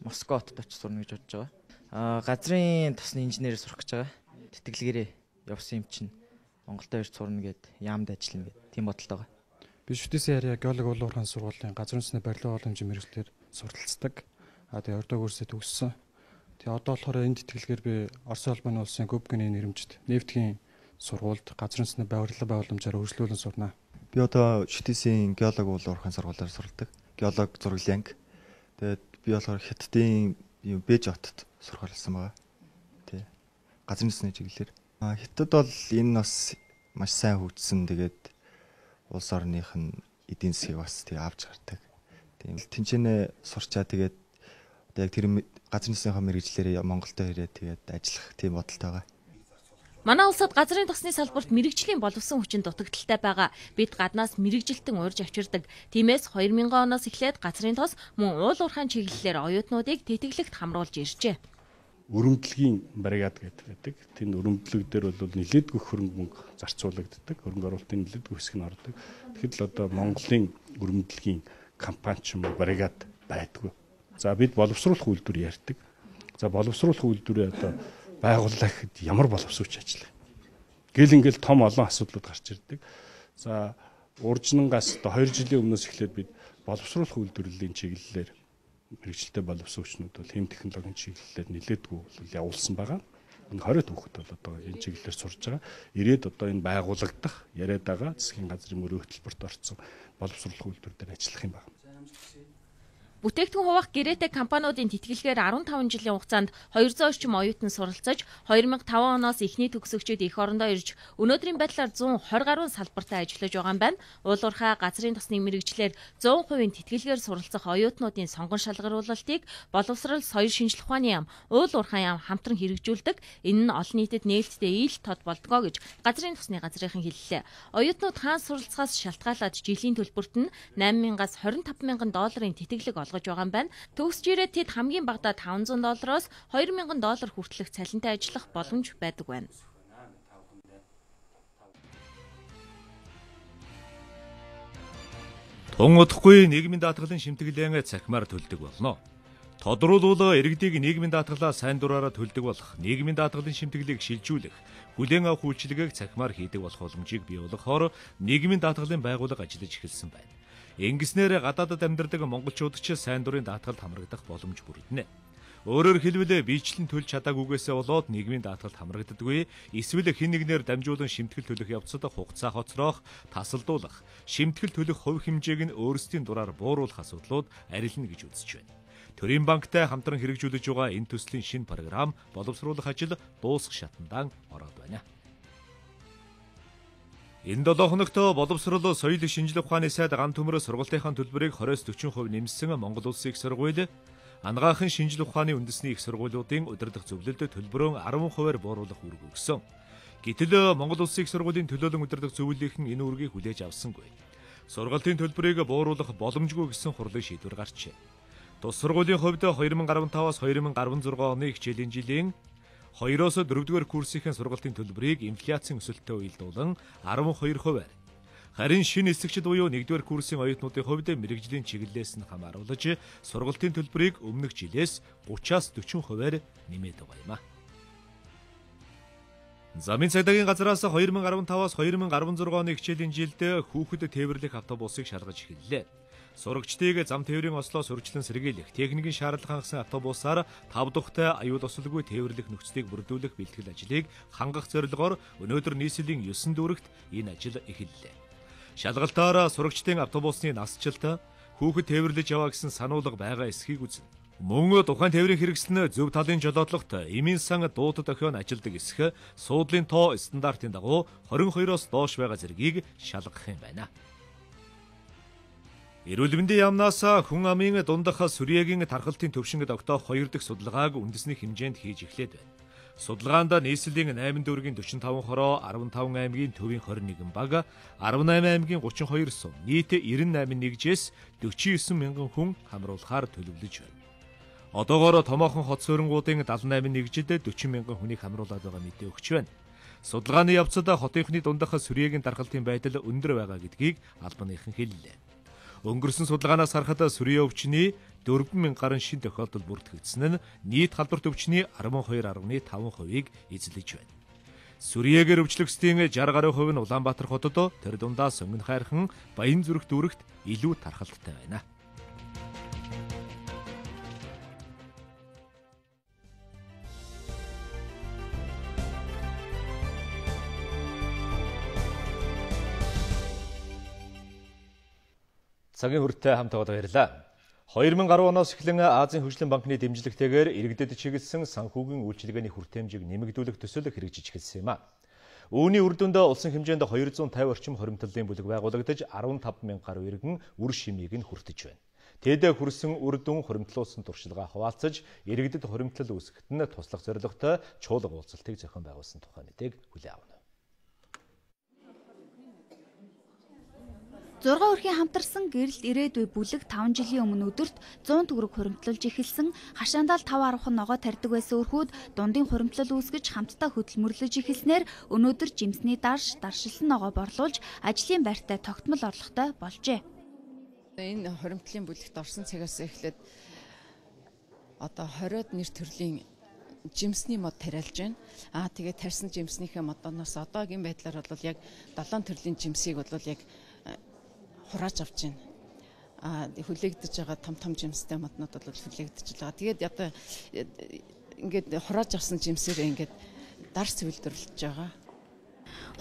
Москвад очиж сурна гэж бодож байгаа. А газрын тосны инженерээр сурах гэж байгаа. Тэтгэлгээр явсан юм чинь Монголд ирж сурна гэд яамд ажиллана гэд тийм бодолтой байгаа. Би шүтээсийн харьяа геолог уулуурхайн сургуулийн газрын тосны барилга боломжийн мэргэжлэр суралцдаг. А тэгээ ордоо курсээ төгссөн. Тэгээ одоо болохоор энэ тэтгэлгээр би Оросын албаны улсын Гүбкийн нэрмжид нефтгийн сургуульд газрын тосны барилга боломжоор үргэлжлүүлэн сурнаа. Би одоо шүтээсийн геолог уулуурхайн сургуулиар суралдаг. Геолог зураглын анги. Тэгээд би болохоор Хятадын Бэж хотод сурах болсон байгаа. Тий. Газрын тосны чиглэлээр. Хятад бол энэ бас маш сайн хөгжсөн. Тэгээд улс орных нь эдийн засгийг бас тий авч гардаг. Тийм тэнцэнэ сурчаа тэгээд одоо яг тэр газрын тосныхоо мэргэжлэрээ Монголдо ирээд тэгээд ажиллах тийм бодолтой байгаа. Манай улсад газрын тосны салбарт мэрэгжлийн боловсон хүчин дутагдaltaй байгаа. Бид гаднаас мэрэгжилтэн урьж авчирдаг. Тиймээс хоёр мянган оноос эхлээд газрын тос мөн уулуурхайн чиглэлээр оюутнуудыг тэтгэлэгт хамруулж иржээ. Өрөмдлөгийн бригад гэдэг. Тэнд өрөмдлөг дээр бол нэлээдгүй хөрөнгө мөнгө зарцуулагддаг. Хөрөнгө оруулалтын нэлээдгүй хэсэг нь ордог. Тэгэхэд л одоо Монголын өрөмдлөгийн компани ч юм уу бригад байдгүй. За бид боловсруулах үйлдвэр ярьдаг. За боловсруулах үйлдвэрээ одоо байгууллаа гэхэд ямар боловсруулж ажиллах. Гэл ингээл том олон асуудлууд гарч ирдэг. За уржнангаас одоо хоёр жилийн өмнөөс эхлээд бид боловсруулах үйлдвэрлэлийн чиглэлээр мэргэжилтэй боловсруулагчнууд бол хэм технологийн чиглэлээр нэлээдгүй бол явуулсан байгаа. Энэ хорой түүхэд бол одоо энэ чиглэлээр сурж байгаа. Ирээд одоо энэ байгуулагдах яриад байгаа засгийн газрын мөрөө хөтөлбөрт орсон боловсруулах үйлдвэр дээр ажиллах юм байна. Бүтээгдэхүүн хуваах гэрээтэй компаниудын тэтгэлгээр арван таван жилийн хугацаанд хоёрзуун орчим оюутан суралцаж хоёр мянга таван оноос эхний төгсөгчид эх орондоо ирж өнөөдрийн байдлаар зуун хорь гаруй салбартаа ажиллаж байгаа юм байна. Уул уурхай газрын тосны мэрэгчлэр зуун хувийн тэтгэлгээр суралцах оюутнуудын сонгон шалгаруулалтыг боловсрол, соёл шинжилх ухааны яам, уул уурхай яам хамтран хэрэгжүүлдэг. Энэ нь олон нийтэд нээлттэй ил тод болдгоо гэж газрын тосны газрынхан хэллээ. Оюутнууд хаан суралцахаас шалтгаалаад жилийн төлбөрт нь найман мянгаас хорин таван мянган долларын тэтгэлэг олгож байгаа юм байна. Төгсж ирээд тэд хамгийн багадаа таван зуун доллароос хоёр мянган доллар хүртэлх цалинтай ажиллах боломж байдаг байна. Тун удахгүй нийгмийн даатгалын шимтгэлэн цахимаар төлдөг болно. Тодруулбал иргэдийг нийгмийн даатгалаа сайн дураараа төлдөг болох нийгмийн даатгалын шимтгэлийг шилжүүлэх, хүлээн авах үйлчилгээг цахимаар хийдэг болох боломжийг бий болгохоор нийгмийн даатгалын байгууллага ажиллаж эхэлсэн байна. Ингэснээр гадаадд амьдардаг монголчууд ч сайн дурын даатгалд хамрагдах боломж бүрдэнэ. Өөрөөр хэлбэл биечлэн төлж чадаагүйгээсээ болоод нийгмийн даатгалд хамрагддаггүй, эсвэл хэн нэгээр дамжуулан шимтгэл төлөх явцад хугацаа хоцроох, тасалдуулах, шимтгэл төлөх хувь хэмжээг нь өөрсдийн дураар бууруулах асуудлууд арилна гэж үзэж байна. Төрийн банктай хамтран хэрэгжүүлж байгаа энэ төслийн шинэ програм боловсруулах ажил дуусах шатандаа ороод байна. Энэ долоо хоногт боловсрол, соёл шинжилгээ ухааны сайд ган төмөр сургалтынхаа төлбөрийг двадцать-аас дөрвөн хувь нэмсэн Монгол Улсын их сургууль, анагаахын шинжилгээ ухааны үндэсний их сургуулиудын удирдах зөвлөлд төлбөрөө арван хувиар бууруулах үүрэг өгсөн. Гэтэл Монгол Улсын их сургуулийн төлөөлөн удирдах зөвлөлийнхэн энэ үүргийг хүлээж авсангүй. Сургалтын төлбөрийг бууруулах боломжгүй гэсэн хурлын шийдвэр гарчээ. Тус сургуулийн хувьд две тысячи десятый-аас две тысячи шестнадцать оны хичээлийн жилийн хоёроос дөрөвдүгээр курсын сургалтын төлбөрийг инфляцийн өсөлтөй уялдуулан арван хоёр хувиар. Харин шинэ эсэгчд буюу нэгдүгээр курсын оюутнуудын хувьд мэрэгжлийн чиглэлээс нь хамааруулж сургалтын төлбөрийг өмнөх жилээс гураваас дөрвөн хувиар нэмээд байгаа юм а. Замын цагдаагийн газраас две тысячи десятый-аас две тысячи шестнадцать оны хичээлийн жилд хүүхэд тээвэрлэх автобусыг шалгаж эхэллээ. Сурагчдыг зам тээврийн ослоо сурчлан сэргийлэх, техникийн шаардлага хангасан автобусаар тав тухтай аюул осолгүй тээвэрлэх нөхцөлийг бүрдүүлэх бэлтгэл ажлыг хангах зорилгоор өнөөдөр нийслэлийн ёсон дүүрэгт энэ ажил эхэллээ. Шалгалтаар сурагчдын автобусны насжилт, хүүхэд тээвэрлэж яваа гэсэн сануулга байгаа эсхийг үзнэ. Мөн тухайн тээврийн хэрэгсэл нь зөв талын жолоодлогот эмийн сан дуудад охин ажилдаг эсэх, суудлын тоо стандартын дагуу двадцать two-оос доош байгаа зэргийг шалгах юм байна. Эрүүл мэндийн яамнаас хүн амын дундах сүрьегийн тархалтын төвшинг тогтоох хоёр дахь судалгааг үндэсний хэмжээнд хийж эхлээд байна. Судалгаанд нийслэлийн найман дүүргийн forty-five хороо, fifteen аймгийн төвийн twenty-one баг, eighteen аймгийн thirty-two сум, нийт ninety-eight нэгжээс forty-nine мянган хүн хамруулахаар төлөвлөж байна. Одоогоор томоохон хот суурингуудын seventy-eight нэгжид forty мянган хүнийг хамруулад байгаа мэдээ өгч байна. Судалгааны явцад хотынхны дундах сүрьегийн тархалтын байдал өндөр байгаа гэдгийг албаныхан хэллээ. Өнгөрсөн судалгаанаас харахад сүрье өвчний four thousand гаруй шин тохиолдол бүртгэгдсэн нь нийт халдварт өвчний twelve point five хувийг эзлэж байна. Сүрьегээр өвчлөгсдийн sixty гаруй хувь нь Улаанбаатар хотод, тэр дундаа Сонгон хайрхан, Баян зүрх дүүрэгт илүү тархалттай байна. Цагийн хүртээ хамт байгаа баярлалаа. two thousand ten оноос эхлэн Азийн хөгжлийн банкны дэмжлэгтэйгээр иргэдэд чиглэсэн санхүүгийн үйлчилгээний хүртээмжийг нэмэгдүүлэх төсөл хэрэгжиж эхэлсэн юм а. Үүний үр дүнд улсын хэмжээнд two hundred fifty орчим хоримтлалын бүлэг байгуулагдаж fifteen thousand гаруй иргэн үр шимийг нь хүртэж байна. Тэд хүрсэн үр дүн хоримтлуулсан туршилгаа хуваалцаж иргэдэд хоримтлал үүсгэхэд нь туслах зорилготой чуулга уулзалтыг зохион байгуулсан тухай мэдээг хүлээн авна. зургаан өрхийн хамтарсан гэрэлт ирээдүй бүлэг five жилийн өмнө өдөрт one hundred төгрөг хуримтлуулж эхэлсэн, хашаандаа five арвахан ногоо тарьдаг байсан өрхүүд дундын хуримтлал үүсгэж хамтдаа хөдөлмөрлөж эхэлснээр өнөөдөр жимсний дарш, даршилсан ногоо борлуулж ажлын байртай тогтмол орлоготой болжээ. Энэ хуримтлалын бүлэгт орсон цагаас эхлээд одоо twenty-од нэр төрлийн жимсний мод тариалж байна. Аа тэгээд тарьсан жимснийхээ модоноос одоогийн байдлаар бол яг seven төрлийн жимсийг бол яг хурааж авч байна. Аа хүлээгдэж байгаа том том жимстэй моднууд бол хүлээгдэж байгаа. Тэгээд одоо ингээд хурааж авсан жимсээр ингээд дарс үйлдвэрлэж байгаа.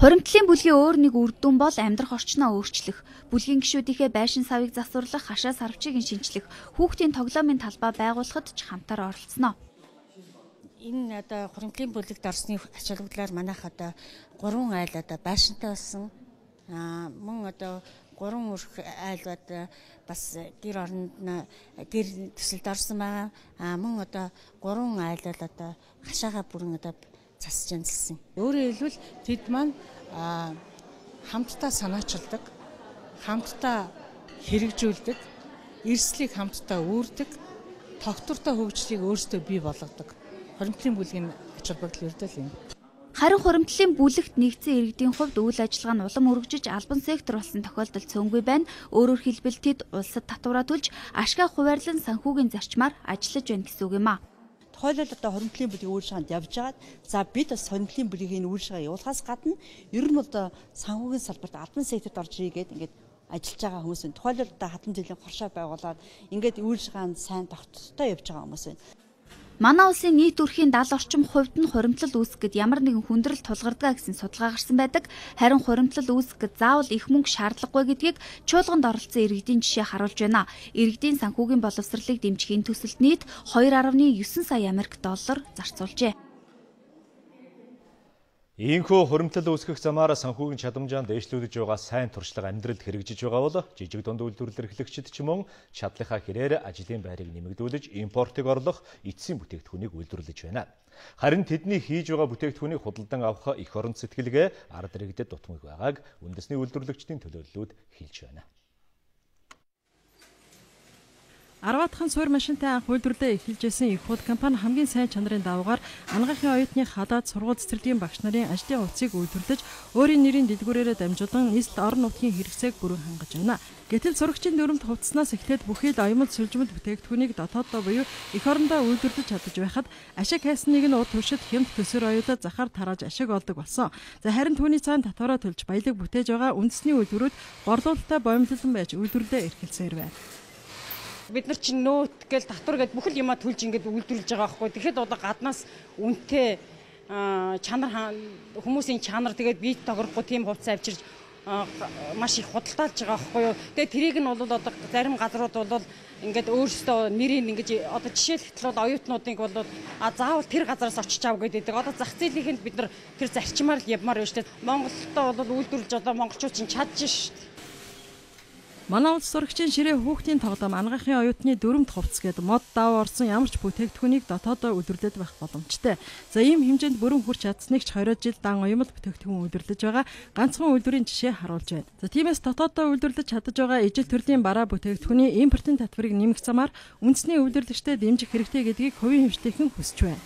Хуримтлалын бүлгийн өөр нэг үр дүн бол амьдрах орчноо өөрчлөх, бүлгийн гишүүдийнхээ байшин савыг засварлах, хашаа сарвчийг шинчлэх, хүүхдийн тоглоомын талбай байгуулахад ч хамтаар оролцсноо. Энэ одоо хуримтлалын бүлэгт орсны ач холбогдлоор манайх одоо гурван айл одоо байшинтай болсон. Аа мөн одоо гурван өрх айл одоо бас гэр оронд гэр төсөлд орсон байгаа. Аа мөн одоо гурван айл бол одоо хашаага бүрэн одоо засаж янзлсан. Өөрөөр хэлбэл тэд маань хамтдаа санаачилдаг, хамтдаа хэрэгжүүлдэг, эрсдлийг хамтдаа үүрдэг, тогтвортой хөгжлийг өөрсдөө бий болгодог. Хуримтлалын бүлгийн ач холбогдол ердөө л юм. Харин хуримтлалын бүлэгт нэгдсэн иргэдийн хувьд үйл ажиллагаа нь улам өргөжиж албан сектор болсон тохиолдол цөөнгүй байна. Өөрөөр хэлбэл тэд улсад татвараа төлж ашгаа хуваарлан санхүүгийн зарчмаар ажиллаж байна гэсэн үг юм а. Тухайлбал одоо хуримтлалын бүлгийн үйл ажиллагаанд явж байгаад за бид бас хуримтлалын бүлгийн үйл ажиллагаа явуулахаас гадна ер нь одоо санхүүгийн салбарт албан секторт орж ирээд ингээд ажиллаж байгаа хүмүүс байна. Тухайлбал одоо хатан жилийн хоршоо байгуулад ингээд үйл ажиллагаанд сайн тогтцтой явж байгаа хүмүүс байна. Манай улсын нийт өрхийн даал орчим хувьд нь хуримтлал үүсгэхэд ямар нэгэн хүндрэл тулгардаг гэсэн судалгаа гарсан байдаг. Харин хуримтлал үүсгэхэд заавал их мөнгө шаардлагагүй гэдгийг чуулганд оролцсон иргэдийн жишээ харуулж байна. Иргэдийн санхүүгийн боловсролыг дэмжихийн төсөлд нийт two point nine сая Америк доллар зарцуулжээ. Ийхүү хуримтлал үүсгэх замаар санхүүгийн чадамжаанд дээшлүүлж байгаа сайн туршлага амьдралд хэрэгжиж байгаа бол жижиг дунд үйлдвэрлэл эрхлэгчид ч мөн чадлынхаа хэрээр ажлын байрыг нэмэгдүүлж импортыг орлох эцсийн бүтээгдэхүүнийг үйлдвэрлэж байна. Харин тэдний хийж байгаа бүтээгдэхүүнийг худалдан авах эх орон сэтгэлгээ ард иргэдэд дутмаг байгааг үндэсний үйлдвэрлэгчдийн төлөөллүүд хэлж байна. Арваатхан суур машинтай анх үйлдвэрлэлээ эхэлжсэн их хурд компани хамгийн сайн чанарын даваагаар анагаахын оюутны хадаад сургууль цэцэрлэгийн багш нарын ажлын хувцсыг үйлдвэрлэж өөрийн нэрийн дэлгүүрээрээ дамжуулан нийслэл орон нутгийн хэрэгцээг бүрэн хангаж байна. Гэтэл сурагчийн дүрмд хувцснаас эхлээд бүхий л оюмл сүлжмэд бүтээгдэхүүнийг дотооддоо буюу эх орондоо үйлдвэрлэж чадаж байхад ашиг хайсныг нь урд туршид хямд төсөр оюутад захаар тарааж ашиг олдог болсон. За харин түүний цаана татвараа төлж баялаг бүтээж байгаа үндэсний үйлдвэрүүд горлуулалттай боомлолон байж үйлдвэрлэлээ эрхэлсээр байна. Бид нар чинь нөөт гээл татвар гээд бүх л юмаа төлж ингээд үйлдвэрлэж байгаа байхгүй. Тэгэхэд одоо гаднаас үнэтэй чанар хүмүүсийн чанар тэгээд бие тогрохгүй тийм хувцас авчирж маш их худалдаалж байгаа байхгүй юу. Тэгээд тэрийг нь бол одоо зарим газрууд бол ингээд өөрсдөө нэрийг ингэж одоо жишээлбэл бол оюутнуудыг бол а заавал тэр газараас очиж ав гэдэг. Одоо зах зээлийн бид нар тэр зарчмаар л явмаар байна шүү дээ. Монголдоо бол үйлдвэрлэж одоо монголчууд чинь чадж шүү дээ. Манай улс сурагчийн ширээ хүүхдийн тоглоом анагаахын оюутны дүрмд хувцс гээд мод даваа орсон ямар ч бүтээгдэхүүнийг дотоодоо үйлдвэрлэж байх боломжтой. За ийм хэмжээнд бүрэн хүрч чадсныг ч twenty жил дан оюмл бүтээгдэхүүн үйлдвэрлэж байгаа ганцхан үйлдвэрийн жишээ харуулж байна. За тиймээс дотоодоо үйлдвэрлэж чадаж байгаа ижил төрлийн бараа бүтээгдэхүүний импортын татварыг нэмэх замаар үндэсний үйлдвэрлэгчдэд дэмжих хэрэгтэй гэдгийг хувийн хэмжлийнхэн хүсэж байна.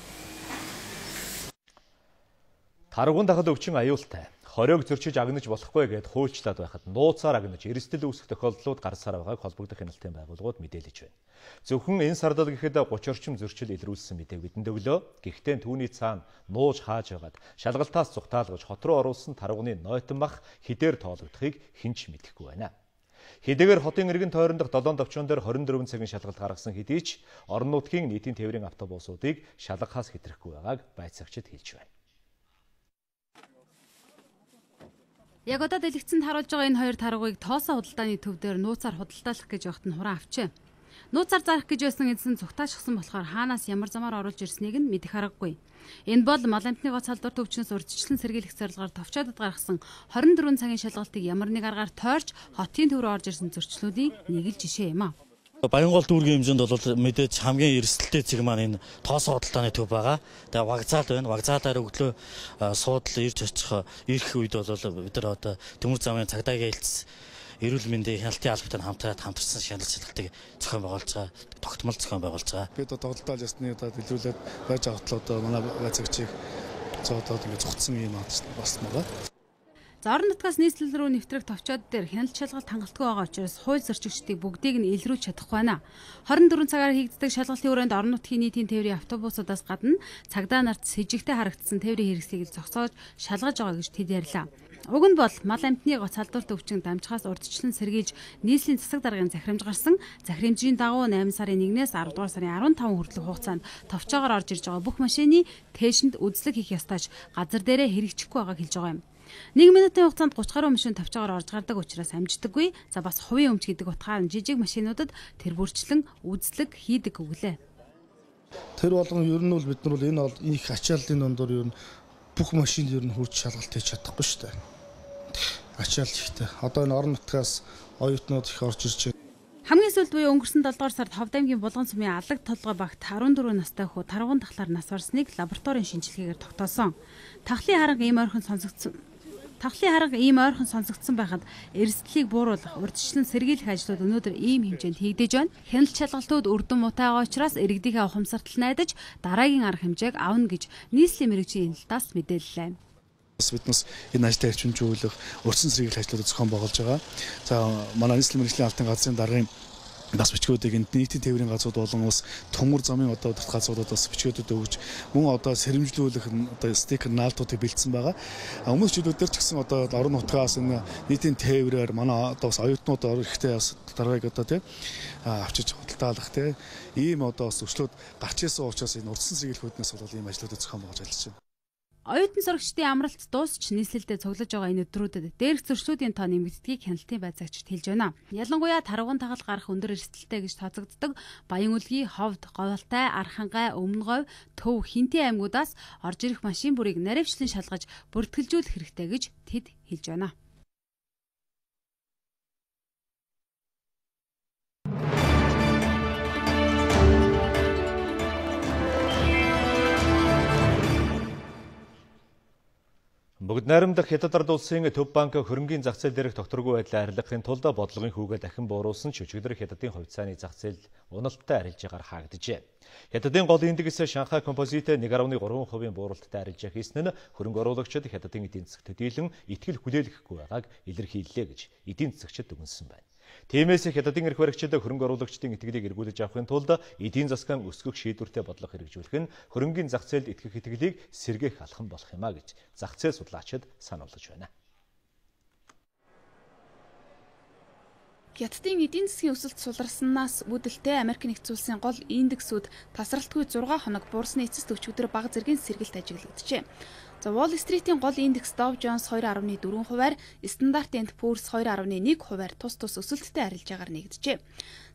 Таргуун дахад өвчин аюултай. Хориог зөрчиж агнаж болохгүй гэд хуульчлаад байхад нууцаар агнаж эрсдэл үүсэх тохиолдлууд гарсаар байгааг холбогдох хяналтын байгууллагууд мэдээлж байна. Зөвхөн энэ сардал гэхэд thirty орчим зөрчил илрүүлсэн мэдээг бидэнд өглөө. Гэхдээ түүний цаана нууж хааж байгаад шалгалтаас зүхтаалгаж хот руу оруулсан таргууны нойтон бах хідээр тоологдохыг хинч мэдэхгүй байна. Хэдийгээр хотын иргэн тойрон дох долоон товчон дээр twenty-four цагийн шалгалт гаргасан хэдий ч орон нутгийн нийтийн тээврийн автобусуудыг шалгахаас хэтрэхгүй байгааг байцаагчид хэлж байна. Яг одоо дэлгэцэнд харуулж байгаа энэ хоёр таргууийг тоосоо худалдааны төв дээр нууцаар худалдаалах гэж явахт нь хураан авчээ. Нууцаар зарах гэж байсан эзэн зүгтаашгсан болохоор хаанаас ямар замаар оруулж ирснийг нь мэдэх аргагүй. Энэ бол мал амтны гоц халдвар төвчнөөс урьдчилан сэргийлэх зорилгоор товчоодод гаргасан twenty-four цагийн шалгалтыг ямар нэг аргаар тойрч хотын төв рүү орж ирсэн зөрчлүүдийн нэг л жишээ юм а. Баянгол дүүргийн хэмжээнд бол мэдээж хамгийн эрсдэлтэй зэг маань энэ тоосоо худалдааны төв байгаа. Тэгээ вокзал байна. Вокзалаар өглөө суудлаа ирж очих ирэх үед бол бид нар одоо төмөр замын цагдаагийн хэлтс эрүүл мэндийн хяналтын албатай хамтраад хамтарсан шалгалт шалгалтыг зохион байгуулж байгаа. Тогтмол зохион байгуулж байгаа. Бид одоо худалдаалж ясны одоо дэлгэрүүлээд байж байгаа одоо манай байцаагчийг зодоод ингэ зогтсон юм бас байгаа. За орон нутгаас нийслэл рүү нэвтрэх товчоод дээр хяналт шалгалт хангалтгүй байгаа учраас хууль зөрчигчдийг бүгдийг нь илрүүлж чадахгүй байна. twenty-four цагаар хийгддэг шалгалтын өрөөнд орон нутгийн нийтийн тээврийн автобусуудаас гадна цагдаа нарт с сэжигтэй харагдсан тээврийн хэрэгслийг зогсоож шалгаж байгаа гэж тэд ярьлаа. Уг нь бол мал амтны гоц халдвар төвчин дамжихаас урьдчилан сэргийлж нийслэлийн засаг даргын захирамж гарсан. Захирамжийн дагуу eight сарын one-ээс ten дугаар сарын fifteen хүртэлх хугацаанд товчоогоор орж ирж байгаа бүх машины тээшинд үзлэг хийх ёстойч газар дээрээ хэрэгжихгүй байгааг хэлж байгаа юм. нэг минутын хугацаанд гурван гаруй машин тавчаагаар орж гардаг учраас амждаггүй. За бас хувийн өмч гэдэг утгаар нь жижиг машинуудад тэр бүрчлэн үзлэг хийдэг өглөө. Тэр болгон ер нь бол бид нар бол энэ бол их ачааллын дондор ер нь бүх машинд ер нь хурж шалгалт хийж чадахгүй шүү дээ. Ачаал ихтэй. Одоо энэ орон нутгаас оюутнууд их орж ирж байна. Хамгийн сүүлд буюу өнгөрсөн долоодугаар сард Ховд аймгийн Булган сумын алаг толгой багт арван дөрвөн настай хүү таргуун тахлаар нас барсныг лабораторийн шинжилгээгээр тогтоосон. Тахлын харга ийм ойрхон сонсогдсон. Тахлын харга ийм ойрхон сонсогдсон байхад эрсдлийг бууруулах, урьдчилан сэргийлэх ажлууд өнөөдөр ийм хэмжээнд хийгдэж байна. Хяналт шалгалтууд үрдэн мутайгаа учраас иргэдийнхээ ухамсартал найдаж дараагийн арга хэмжээг авна гэж нийслэлийн мэргэжлийн хяналтаас мэдээллээ. Биднес энэ ажлаа эрчимжүүлэх, урьдчилан сэргийлэх ажлуудыг зохион байгуулж байгаа. За манай нийслэлийн мэргэжлийн албан газрын даргын бас бичгүүдийг энд нийтийн тээврийн газрууд болон ус төмөр замын одоо удирдах газруудад бас бичгүүдэд өгж мөн одоо сэрэмжлүүлэх одоо стикер наалтуудыг бэлдсэн байгаа. Өмнөх жилүүд дээр ч гэсэн одоо орон нутгаас энэ нийтийн тээврээр манай одоо бас оюутнууд ирэхдээ бас даргаыг одоо тий авчиж худалдаалах тий ийм одоо бас өчлөөд гарч ирсэн учраас энэ урьдчилан сэргийлэх хүүднээс бол ийм ажлуудыг зохион байгуулж ажиллаж байна. Оюутан сурагчдын амралт дуусч нийслэлдээ цуглаж байгаа энэ өдрүүдэд дээрх зөрчлүүдийн тоо нэмэгддгийг хяналтын байцаагчид хэлж байна. Ялангуяа таргуун тахал гарах өндөр эрсдэлтэй гэж тооцогддог Баян үлгий, Ховд, Говьалтай, Архангай, Өмнөговь, Төв, Хинтээ аймагуудаас орж ирэх машин бүрийг наривчлан шалгаж бүртгэлжүүлэх хэрэгтэй гэж тэд хэлж байна. Бүгд найрамдах Хятад ард улсын Төв банк хөрөнгийн зах зээл дээрх тогтворгүй байдлаа арилгахын тулд бодлогын хүүгээ дахин бууруулсан ч өчигдөр Хятадын хувьцааны зах зээл уналттай арилжаагаар хаагдажээ. Хятадын гол индекс Шанхай композит нэг гаруй гурван хувийн бууралттай арилжаа хийсэн нь хөрөнгө оруулагчид Хятадын эдийн засагт төдийлөн итгэл хүлээлгэхгүй байгааг илэрхийллээ гэж эдийн засагчид дүгнсэн байна. Тиймээс Хятадын эрх баригчид хөрөнгө оруулагчдын итгэлийг эргүүлж авахын тулд эдийн засгийн өсгөх шийдвэртэй бодлого хэрэгжүүлэх нь хөрөнгөний зах зээлд итгэх итгэлийг сэргээх алхам болох юм а гэж зах зээл судлаачид сануулж байна. Хятадын эдийн засгийн өсөлт суларснаас үүдэлтэй Америк нэгдсэн улсын гол индексүүд тасралтгүй зургаан хоног буурсны эцэст өчигдөр бага зэргийн сэргэлт ажиглагджээ. За Wall Street-ийн гол индекс Dow Jones two point four хувиар, Standard and Poor's two point one хувиар тус тус өсөлттэй арилжаагаар нэгджээ.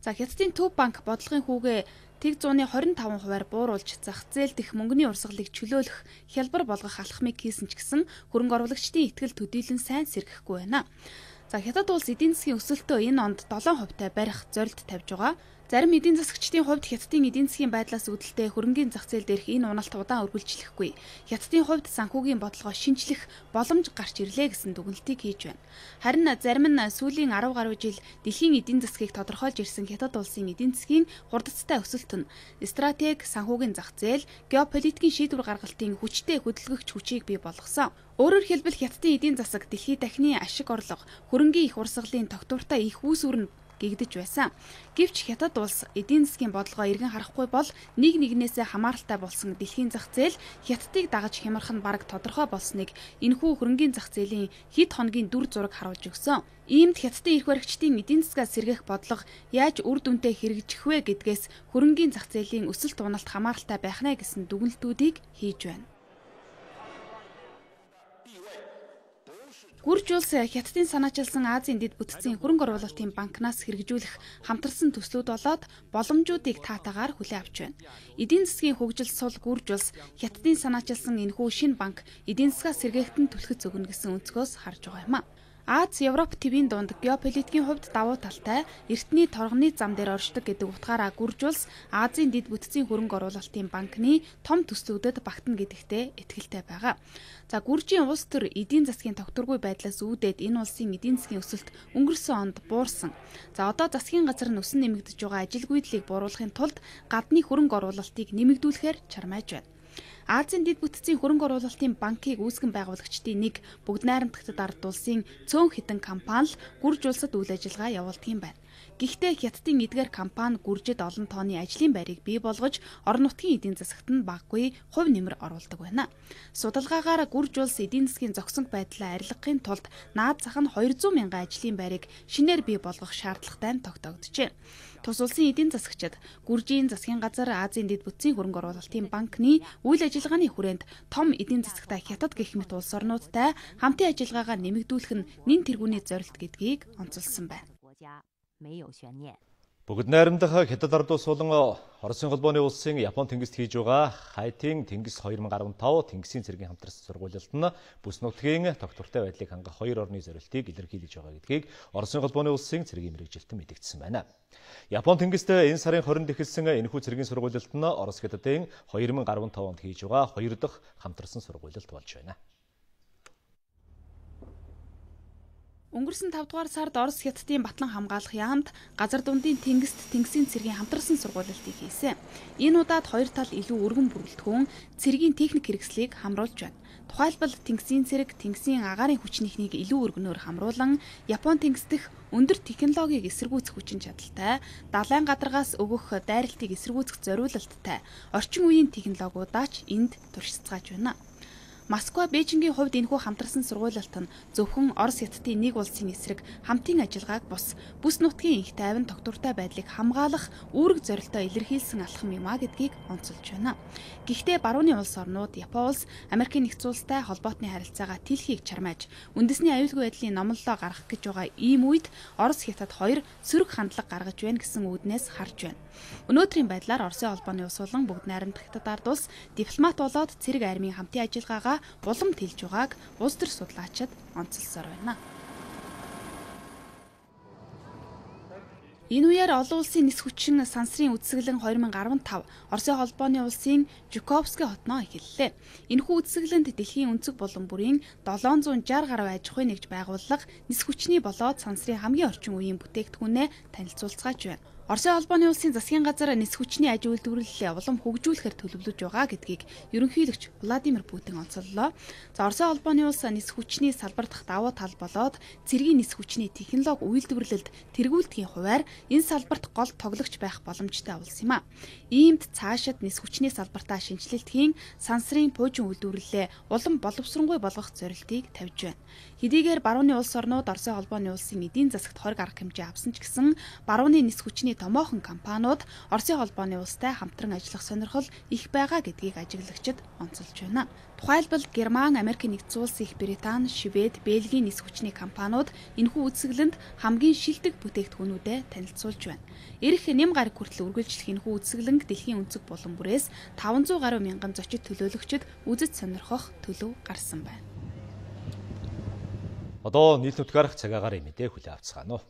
За Хятадын Төв банк бодлогын хүүгээ тэг зууны twenty five хувиар бууруулж зах зээл дэх мөнгөний урсгалыг чөлөөлөх хялбар болгох алхмыг хийсэн ч гэсэн хөрөнгө оруулагчдын итгэл төдийлөн сайн сэргэхгүй байна. За Хятад улс эдийн засгийн өсөлтөө энэ онд seven хувитай барих зорилт тавьж байгаа. Зарим эдийн засагчдын хувьд Хятадын эдийн засгийн байдлаас үүдэлтэй хөрөнгөний зах зээл дээрх энэ уналт удаан үргэлжлэхгүй. Хятадын хувьд санхүүгийн бодлогоо шинжлэх боломж гарч ирлээ гэсэн дүгнэлтийг хийж байна. Харин зарим нь сүүлийн ten гаруй жил дэлхийн эдийн засгийг тодорхойлж ирсэн Хятад улсын эдийн засгийн хурдцтай өсөлт нь стратеги, санхүүгийн зах зээл, геополитикийн шийдвэр гаргалтын хүчтэй хөдөлгөгч хүчийг бий болгосон. Өөрөөр хэлбэл Хятадын эдийн засаг дэлхийд дахины ашиг орлого, хөрөнгөний их урсгалын тогтвортой их үүсвэр нь гэгдэж байсан. Гэвч Хятад улс эдийн засгийн бодлогоо эргэн харахгүй бол нэг нэгнээсээ хамааралтай болсон дэлхийн зах зээл Хятадыг дагаж хямрах нь бараг тодорхой болсныг энэхүү хөрөнгөний зах зээлийн хэд хоногийн дүр зураг харуулж өгсөн. Иймд Хятадын эрх баригчдын эдийн засгаас сэргээх бодлого яаж үр дүнтэй хэрэгжих вэ гэдгээс хөрөнгөний зах зээлийн өсөлт уналт хамааралтай байх нэ гэсэн дүгнэлтүүдийг хийж байна. Гүрж улс Хятадын санаачилсан Азийн дэд бүтцийн хөрөнгө оруулалтын банкнаас хэрэгжүүлэх хамтарсан төслүүд болоод боломжуудыг таатаагаар хүлээн авч байна. Эдийн засгийн хөгжил сул Гүрж улс Хятадын санаачилсан энэхүү шинэ банк эдийн засгаас сэргээхтэн түлхэц өгнө гэсэн өнцгөөс харж байгаа юм а. Аз, Европ твийн дунд геополитикийн хувьд давуу талтай эртний торгоны зам дээр оршдог гэдэг утгаараа Гүрж улс Азийн дэд бүтцийн хөрөнгө оруулалтын банкны том төслүүдэд багтана гэдэгтээ итгэлтэй байгаа. За Гүржийн улс төр эдийн засгийн тогтворгүй байдлаас үүдээд энэ улсын эдийн засгийн өсөлт өнгөрсөн онд буурсан. За одоо засгийн газар нь өсөн нэмэгдэж байгаа ажилгүйдлийг бууруулахын тулд гадны хөрөнгө оруулалтыг нэмэгдүүлэхээр чармааж байна. Азийн дэд бүтцийн хөрөнгө оруулалтын банкыг үүсгэн байгуулагчдын нэг бүгд найрамдагтад ард улсын цөөн хитэн компани л Гүрж улсад үйл ажиллагаа явуулдаг юм байна. Гэхдээ Хятадын эдгээр компани Гүржид олон тооны ажлын байрыг бий болгож орон нутгийн эдийн засагт нь баггүй хувь нэмэр оруулдаг байна. Судалгаагаар Гүрж улс эдийн засгийн зогсонг байдлаа арилгахын тулд наад зах нь two hundred мянган ажлын байрыг шинээр бий болгох шаардлагатай нь тогтоогджээ. Тус улсын эдийн засагчид Гүржийн засгийн газар Азийн дэд бүтцийн хөрөнгө оруулалтын банкны үйл ажиллагааны хүрээнд том эдийн засагтай Хятад гэх мэт улс орнуудтай хамтын ажиллагаагаа нэмэгдүүлэх нь нэн тэргүүний зорилт гэдгийг онцолсон байна. Бүгд найрамдах Хятад ард улс болон Оросын холбооны улсын Япон тэнгист хийж байгаа Хайтын тэнгис две тысячи десятый тэнгисийн цэргийн хамтарсан сургуулилт нь бүс нутгийн тогтвортой байдлыг хангах хоёр орны зорилтыг илэрхийлж байгаа гэдгийг Оросын холбооны улсын цэргийн мэргэжилтэн мэдгдсэн байна. Япон тэнгист энэ сарын двадцатд эхэлсэн энэхүү цэргийн сургуулилт нь Орос Хятадын две тысячи десятый онд хийж байгаа хоёр дахь хамтарсан сургуулилт болж байна. Өнгөрсөн тавд дугаар сард Орос Хятадын Батлан хамгаалах яамд газар дундын тэнгист тэнгисийн цэргийн хамтарсан сургуулилтыг хийсэн. Энэ удаад хоёр тал илүү өргөн бүрэлдэхүүн цэргийн техник хэрэгслийг хамруулж байна. Тухайлбал тэнгисийн цэрэг тэнгисийн агаарын хүчнийхнийг илүү өргөнөөр хамруулан Япон тэнгис дэх өндөр технологиг эсэргүүцэх хүчин чадалтай, далайн гадаргаас өгөх дайралтыг эсэргүүцэх зориулалттай орчин үеийн технологиудаа ч энд туршицгааж байна. Москва, Бээжингийн хувьд энэхүү хамтарсан сургуулилт нь зөвхөн Орос Хятадын нэг улсын эсрэг хамтын ажиллагааг бус бүс нутгийн их тайван тогтвортой байдлыг хамгаалах үүрэг зорилтоо илэрхийлсэн алхам юм а гэдгийг онцолж байна. Гэхдээ барууны улс орнууд Япон улс Америкийн нэгдсэн улстай холбоотны харилцаагаа тэлхийг чармааж үндэсний аюулгүй байдлын номлолоо гаргах гэж байгаа ийм үед Орос Хятад хоёр сөрөг хандлага гаргаж байна гэсэн үүднээс харж байна. Өнөөдрийн байдлаар Оросын холбооны улс болон бүгд найрамдах Хятад ард улс дипломат болоод цэрэг армийн хамтын ажиллагаагаа улам тэлж байгааг улс төр судлаачид онцолсоор байна. Энэ үеэр олон улсын нис хүчин сансрын үдсгэлэн две тысячи десятый Оросын холбооны улсын Жуковский хотноо эхэллээ. Энэхүү үдсгэлэнд дэлхийн өнцөг булан бүрийн долоон зуун шарх гаруй аж ахуй нэгж байгууллага нис хүчний болоод сансрын хамгийн орчин үеийн бүтээгдэхүүнээ танилцуулцгааж байна. Оросын холбооны улсын засгийн газар нис хүчний аж үйлдвэрлэлээ улам хөгжүүлэхээр төлөвлөж байгаа гэдгийг ерөнхийлөгч Владимир Путин онцоллоо. За Оросын холбооны улс нис хүчний салбар дахь давуу тал болоод цэргийн нис хүчний технологи үйлдвэрлэлд тэргүүлдэхийн хувьар энэ салбарт гол тоглогч байх боломжтой улс юм а. Иймд цаашид нис хүчний салбартаа шинжилэлтийн сансрын пуужин үйлдвэрлэлээ улам боловсронгуй болгох зорилтыг тавьж байна. Хэдийгээр барууны улс орнууд Оросын холбооны улсын эдийн засагт хориг арга хэмжээ авсан ч гэсэн барууны нис хүчний томоохон компаниуд Оросын холбооны улстай хамтран ажиллах сонирхол их байгаа гэдгийг ажиглагчид онцолж байна. Тухайлбал Герман, Америкийн нэгдсэн улс, Их Британи, Швед, Бельгийн нис хүчний компаниуд энэхүү үдсгэлэнд хамгийн шилдэг бүтээгдэхүүнүүдэд танилцуулж байна. Ирэх нэм гараг хүртэл үргэлжлэх энэхүү үдсгэлэнг дэлхийн өнцөг булан бүрээс таван зуун гаруй мянган зочид төлөөлөгчид үзэж сонирхох төлөв гарсан байна. Одоо нийт нутгаар цагаагаар мэдээ хүлээ авцгаана уу.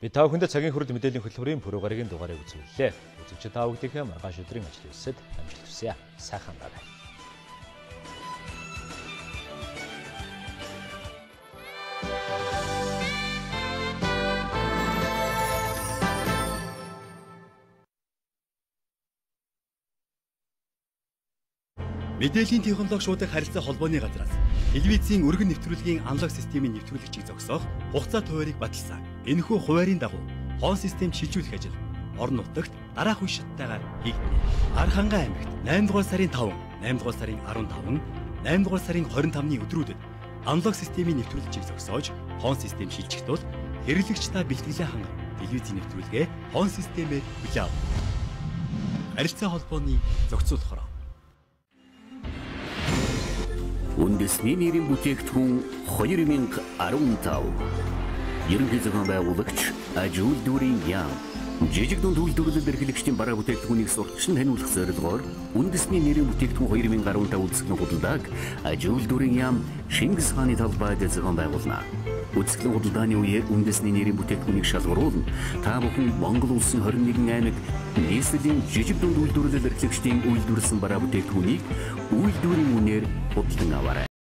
Би та бүхэнд цагийн хүрэлт мэдээллийн хөтөлбөрийн пүрэв гарагийн дугаарыг үзүүллээ. Үзэгч та бүхэндээ маргааш өдрийн ажил үйлсэд амжилт хүсье. Сайхан байна. Мэдээллийн технологи шуудах харилцаа холбооны газраас телевизийн өргөн нэвтрүүлгийн аналог системийн нэвтрүүлэгчийг зогсоох хугацаа хуваарийг баталсан. Энэхүү хуваарийн дагуу хоон систем шилжүүлэх ажил орон нутагт дараах үе шаттайгаар хийгдэнэ. Архангай аймагт наймд дугаар сарын таван, наймд дугаар сарын арван таван, наймд дугаар сарын хорин тавны өдрүүдэд аналог системийн нэвтрүүлэгчийг зогсоож хоон систем шилжих тул хэрэглэгч та бэлтгэлээ хангах телевизийн нэвтрүүлгээ хоон системээр хүлээн авах. Харилцаа холбооны зохицуулахаар Үндэсний нэрийн бүтээгдэхүүн хоёр мянга арван тав. Ерөнхий зохион байгуулагч Ажил дүүрийн яам. Жижиг дунд үйлдвэрлэл эрхлэгчдийн бараа бүтээгдэхүүнийг сурталчилан таниулах зорилгоор үндэсний нэрийн бүтээгдэхүүн хоёр мянга арван тав үзэсгэлэн худалдааг Ажил дүүрийн яам Шингис хааны талбайд зохион байгуулна. Үзэсгэлэн худалдааны үеэр үндэсний нэрийн бүтээгдэхүүнийг шалгаруулна. Та бүхэн Монгол улсын хорин нэгэн аймаг нийслэлийн жижиг дунд үйлдвэрлэл эрхлэгчдийн үйлдвэрлэсэн бараа бүтээгдэхүүнийг үйлдвэрийн үнээр худалдан аваарай.